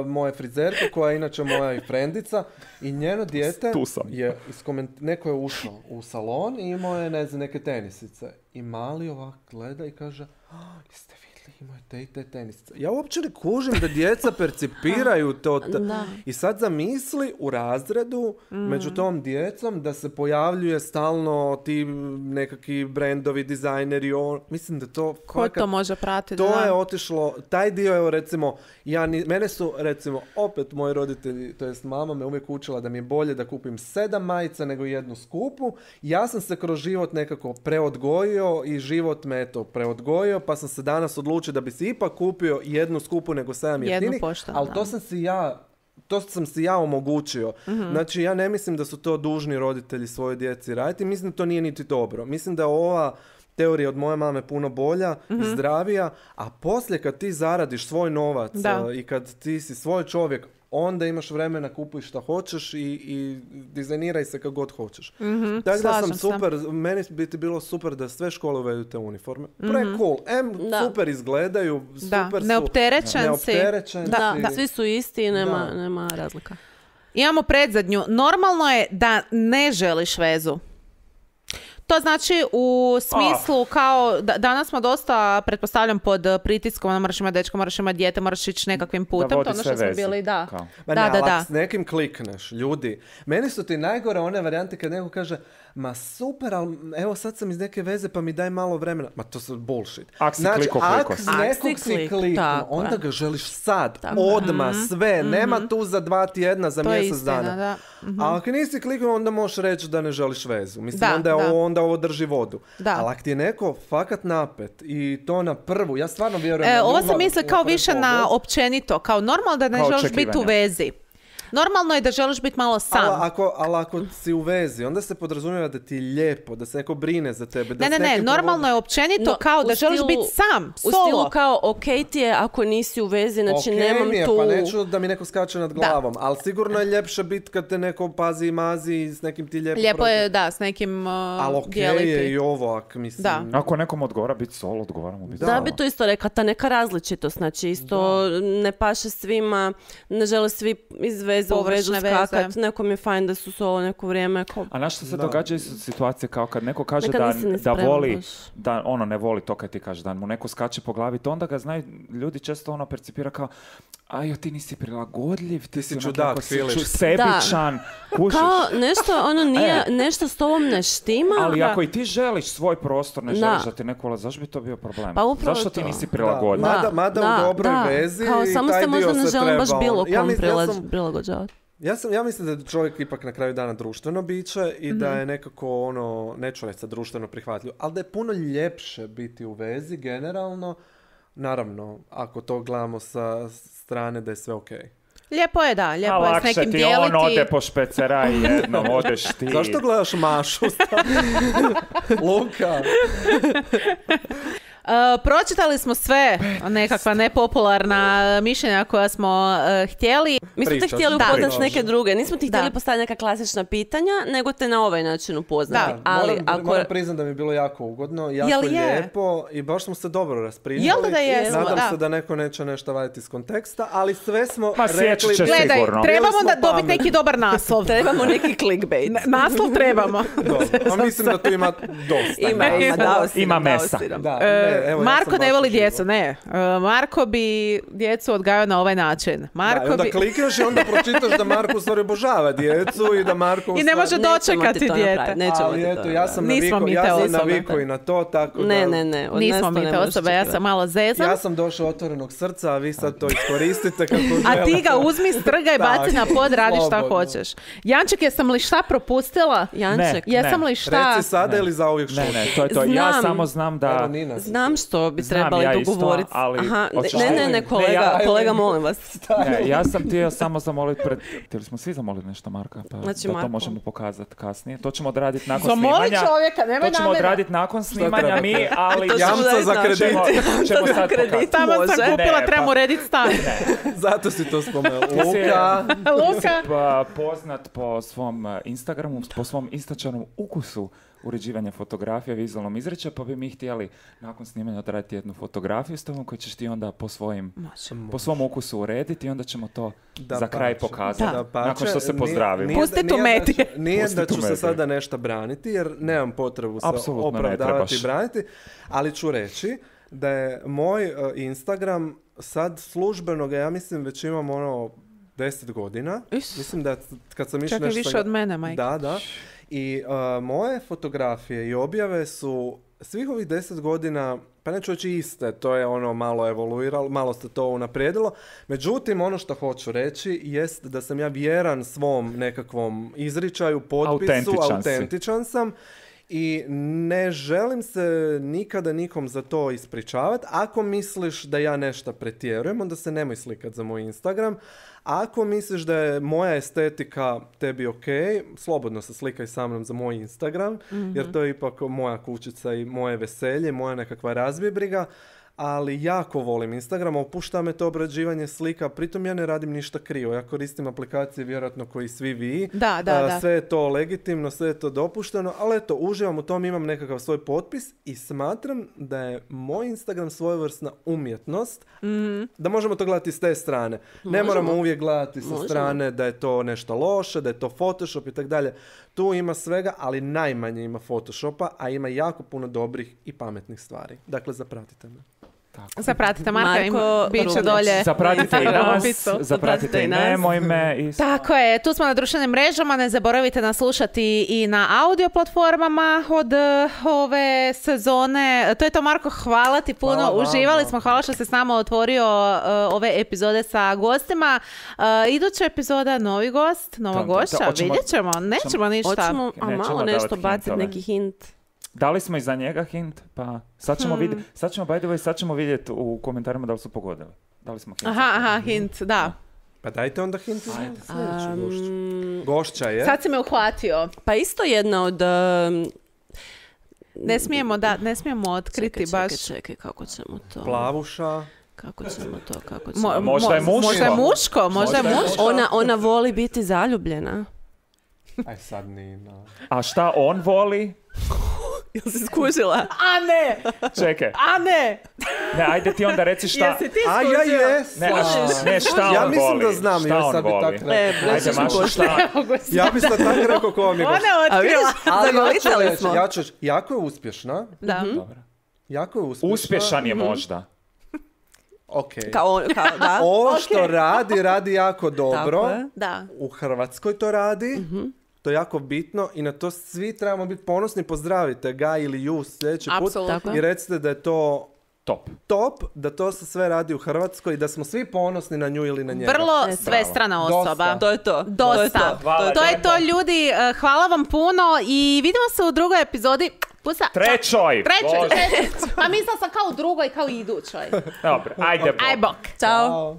moje frizerke, koja je inače moja i frendica, i njeno dijete Tu sam. je iskoment... neko je ušao u salon i imao je, ne znam, neke tenisice. I mali ovak gleda i kaže, "Ah, jeste vidjeli, imaju te i te tenisice." Ja uopće ne kužim da djeca percipiraju to. ta- Da. I sad zamisli u razredu među tom djecom da se pojavljuje stalno ti nekakvi brendovi, dizajneri, on... mislim da to Ko fakat- to može pratiti? to da. je otišlo, taj dio je recimo, ja ni, mene su recimo opet moji roditelji, to jest mama me uvijek učila da mi je bolje da kupim sedam majica nego jednu skupu. Ja sam se kroz život nekako preodgojio i život me eto preodgojio, pa sam se danas odlučio da bi si ipak kupio jednu skupu nego sedam Jednu jeftinih, poštenu, ali da. to sam si ja to sam si ja omogućio. Znači, ja ne mislim da su to dužni roditelji svojoj djeci raditi. Mislim da to nije niti dobro. Mislim da je ova teorija od moje mame puno bolja i zdravija, a poslije kad ti zaradiš svoj novac Da. a, i kad ti si svoj čovjek, onda imaš vremena, kupuj šta hoćeš i, i dizajniraj se kako god hoćeš. Tako da slažem sam se. super, meni bi ti bilo super da sve škole uvedu te uniforme. Pre cool. Em, Da. super izgledaju, Da, super su. neopterećen si. neopterećen Da, si. da, svi su isti i nema, Da. nema razlika. Imamo predzadnju. Normalno je da ne želiš vezu. To znači u smislu kao, da, danas smo dosta, pretpostavljam, pod eh, pritiskom, ono, moraš imati dečka, moraš imati dijete, moraš ići nekakvim putem. To vodi je ono sve što smo veze, bili, da. kao. Ma Da, ne, da, ali da. ako s nekim klikneš, ljudi. Meni su ti najgore one varijante kad neko kaže, ma super, ali evo sad sam iz neke veze pa mi daj malo vremena. Ma to su bullshit. Ak si znači, kliko, ak kliko si. s Ak nekog si si klik, kliknuo, tako onda je. ga želiš sad, Tako je. odmah, sve. Nema tu za dva tjedna, za To je mjesec istina, dana. da. A ako nisi kliknuo, onda možeš reći da ne želiš vezu. Mislim, Da, onda, je da. ovo, onda ovo drži vodu. Da. Ali ako ti je neko fakat napet i to na prvu, ja stvarno vjerujem E, na ovo ljubav se misli na kao prvi više na pogled. općenito, kao normalno da ne Kao želiš biti u očekivanja. vezi. Normalno je da želiš biti malo sam. Ali ako, ali ako si u vezi, onda se podrazumijeva da ti je lijepo, da se neko brine za tebe. Da Ne, ne, s ne, nekim normalno provodi- je općenito No, kao u da želiš stilu- biti sam, U solo. stilu kao, ok ti je ako nisi u vezi, znači Okej nemam mi je, tu... pa neću da mi neko skače nad glavom, ali sigurno je ljepše biti kad te neko pazi i mazi i s nekim ti lijepo Lijepo prođe. je, da, s nekim uh, Ali okej dijeliti. je i ovo, ak mislim... Da. Ako nekom odgovara biti solo, odgovara mu biti Da, solo. bi to isto rekla, ta neka različitost, znači isto ne paše svima, ne žele svi iz veze u vezu Površne veze. skakat, nekom je fajn da su solo neko vrijeme. Ko... A znaš što se Da. događa isto situacije kao kad neko kaže Nekad da, nisi ni da spreman voli, baš. da ono ne voli to kad ti kaže da mu neko skače po glavi, to onda ga znaju, ljudi često ono percipira kao ajo ti nisi prilagodljiv, ti, si onak čudak, jako si Filiš. ču- sebičan, kužiš. Kao nešto, ono nije, E. nešto s tobom ne štima. Ali Da. ako i ti želiš svoj prostor, ne Da. želiš da ti neko ulazi, zašto bi to bio problem? Pa upravo Zašto ti to. nisi Da, prilagodljiv? mada, mada Da, u dobroj da. vezi Kao i samo taj se možda dio ne se želim baš treba- bilo Ja kom mis- ja prilaz- sam- prilagođavati. Ja, sam, ja mislim da je čovjek ipak na kraju dana društveno biće i da je nekako ono, neću reći sad društveno prihvatljivo, ali da je puno ljepše biti u vezi generalno, naravno, ako to gledamo sa strane da je sve okej. Lijepo je, da, A lijepo je s lakše nekim ti dijeliti. on ode po špeceraj jednom, odeš ti. Zašto gledaš Mašu? Luka. Uh, pročitali smo sve nekakva nepopularna mišljenja koja smo uh, htjeli. Mi smo te Pričat. htjeli Da. upoznat s Pričat. neke druge. Nismo ti Da. htjeli postaviti neka klasična pitanja, nego te na ovaj način upoznati. Da, Ali moram, ako... moram priznat da mi je bilo jako ugodno, jako Jel je? lijepo i baš smo se dobro raspričali. Jel da jesmo, Nadam da. se da neko neće nešto vaditi iz konteksta, ali sve smo Ma, rekli... sjećat će se Gledaj, sigurno. trebamo Bili smo da dobiti pametni. neki dobar naslov. Trebamo neki clickbait. N- Naslov trebamo. Dobro, a mislim da tu ima dosta. Ima, ima, dao si Ima nam, dao mesa. si nam. Da, E, ne, evo, ja Marko sam ne baš voli uživao. djecu, ne. E, Marko bi djecu odgajao na ovaj način. Da, Marko i onda bi... klikneš i onda pročitaš da Marko u stvari obožava djecu i da Marko u I ne stvari- može Nećemo dočekati ti to dijete. napraviti, nećemo Ali ti to eto, ja sam Nismo navikao, mi ja te sam osobe. navikao i na to, tako da... Ne, ne, ne. od nas Nismo to mi ne te možeš osobe, ja očekivati. sam malo zezam. Ja sam došao otvorenog srca, a vi sad to iskoristite kako A želite. ti ga uzmi, strgaj, baci na pod, radi šta Slobodno. hoćeš. Janček, jesam li šta propustila? Janček, Ne. Jesam li šta? Reci sada ili zauvijek Ne, šuti. ne, to je to. Ja Znam. samo znam da... Evo, Nina si. znam što bi Znam trebali ja isto, dogovoriti. ali- Aha, Hoćeš ne, ne, li? ne, kolega, Ne, ja- kolega, molim vas. Ne, ja sam htio samo zamoliti pred... Htjeli smo svi zamoliti nešto Marka, pa Znači, da Marko. to možemo pokazati kasnije. To ćemo odraditi nakon Zamoli snimanja. čovjeka, nemoj To ćemo na mene. odraditi nakon snimanja treba? mi, ali... To ćemo Jamca odraditi za na- kredit. Ćemo, ćemo za sad kredit. pokazati. Tamo sam Može. kupila, Ne, trebamo pa- urediti stan. Zato si to spomenuo. Ti si- Luka. Luka. Pa, poznat po svom eh, Instagramu, po svom istačanom ukusu uređivanja fotografija, vizualnom izrečaju, pa bi mi htjeli nakon snimanja odraditi jednu fotografiju s tobom koju ćeš ti onda po svojim, po svom ukusu urediti i onda ćemo to Da za kraj pače. pokazati. Da pače. Nakon što se Nije- pozdravimo. nije- Pusti tu nije meti. da ću- Nije Pusti da tu ću se meti. sada nešto braniti, jer nemam potrebu se Apsolutno ne opravdavati i trebaš. braniti, ali ću reći da je moj e, Instagram sad službeno ga, ja mislim, već imam ono deset godina. Is. Mislim da kad sam išao Čak i nešto... više sam ga- od mene, majke. Da, da. I e, moje fotografije i objave su svih ovih deset godina, pa neću reći iste, to je ono malo evoluiralo, malo se to unaprijedilo. Međutim, ono što hoću reći jest da sam ja vjeran svom nekakvom izričaju, potpisu, Autentičan si. autentičan sam. I ne želim se nikada nikom za to ispričavati. Ako misliš da ja nešto pretjerujem, onda se nemoj slikat za moj Instagram. Ako misliš da je moja estetika tebi ok, slobodno se slikaj sa mnom za moj Instagram, jer to je ipak moja kućica i moje veselje, moja nekakva razbibriga. Ali jako volim Instagram, opušta me to obrađivanje slika, pritom ja ne radim ništa krivo. Ja koristim aplikacije vjerojatno koji svi vi. Da, da, A, da. sve je to legitimno, sve je to dopušteno, ali eto, uživam u tom, imam nekakav svoj potpis i smatram da je moj Instagram svojevrsna umjetnost, da možemo to gledati s te strane. Ne Možemo. moramo uvijek gledati sa Možemo. strane da je to nešto loše, da je to Photoshop i tako dalje. Tu ima svega, ali najmanje ima Photoshopa, a ima jako puno dobrih i pametnih stvari. Dakle, zapratite me. Zapratite Marka, Marko ima, bit će Rubić. dolje. Zapratite i Instagram nas, opisu. zapratite i nas. nemoj me. I... Tako je, tu smo na društvenim mrežama, ne zaboravite nas slušati i na audio platformama od eh, ove sezone. To je to, Marko, hvala ti puno, Hvala vama. uživali smo, hvala što si s nama otvorio eh, ove epizode sa gostima. Uh, iduća epizoda, novi gost, nova Tom, tom, gošća, tom. Hoćemo- vidjet ćemo, nećemo ništa. Hoćemo, a Nećemo malo davati nešto baciti, hintove. neki hint. Dali smo i za njega hint, pa sad ćemo vidjeti, sad ćemo, by the way, sad ćemo vidjeti u komentarima da li su pogodili. Dali smo hint. Aha, aha, hint, da. Pa dajte onda hint za sljedeću Um, gošću. Gošća je. Sad si me uhvatio. Pa isto jedna od... um, Ne smijemo, da, ne smijemo otkriti čekaj, baš... čekaj, čekaj, kako ćemo to? Plavuša. Kako ćemo to, kako ćemo... Mo- Možda je mo- muško. Možda je muško, možda je Možda je muško. Ona, ona voli biti zaljubljena. Aj sad Nina. A šta on voli? Jel si skužila? A ne, Čekaj, a ne. ne, ajde ti onda reci šta... Jesi ti A ja skužio? jes. Ne, a š- ne, šta on Ja mislim voli? da znam, šta jer on sad bi voli? tak rekao. E, Ajde, reći ću Maša, pošto. šta? Ja bi sad tako rekao ko vam je gošća. Ona je A otkrila. vidiš, Ali ja ću zagovitali reći, smo. ja ću reći, jako je uspješna. Da. Dobro. Jako je uspješna. Uspješan je možda. Ok. Kao, on- kao, da. Ovo što radi, radi jako dobro. Tako je. Da. U Hrvatskoj to radi. To je jako bitno i na to svi trebamo biti ponosni. Pozdravite ga ili ju sljedeći put Apsolutno. Tako je. i recite da je to Top. top, da to se sve radi u Hrvatskoj i da smo svi ponosni na nju ili na njega. Vrlo E, svestrana Dosta. osoba. To je to. Dosta. To je to. Hvala To je lijepo. to, ljudi. Eh, Hvala vam puno i vidimo se u drugoj epizodi. Pusa. Trećoj! Trećoj, Bože. trećoj. Pa mislila sam kao u drugoj, kao i idućoj. Dobro, ajde. Bog. Aj bok. Ćao. Ćao.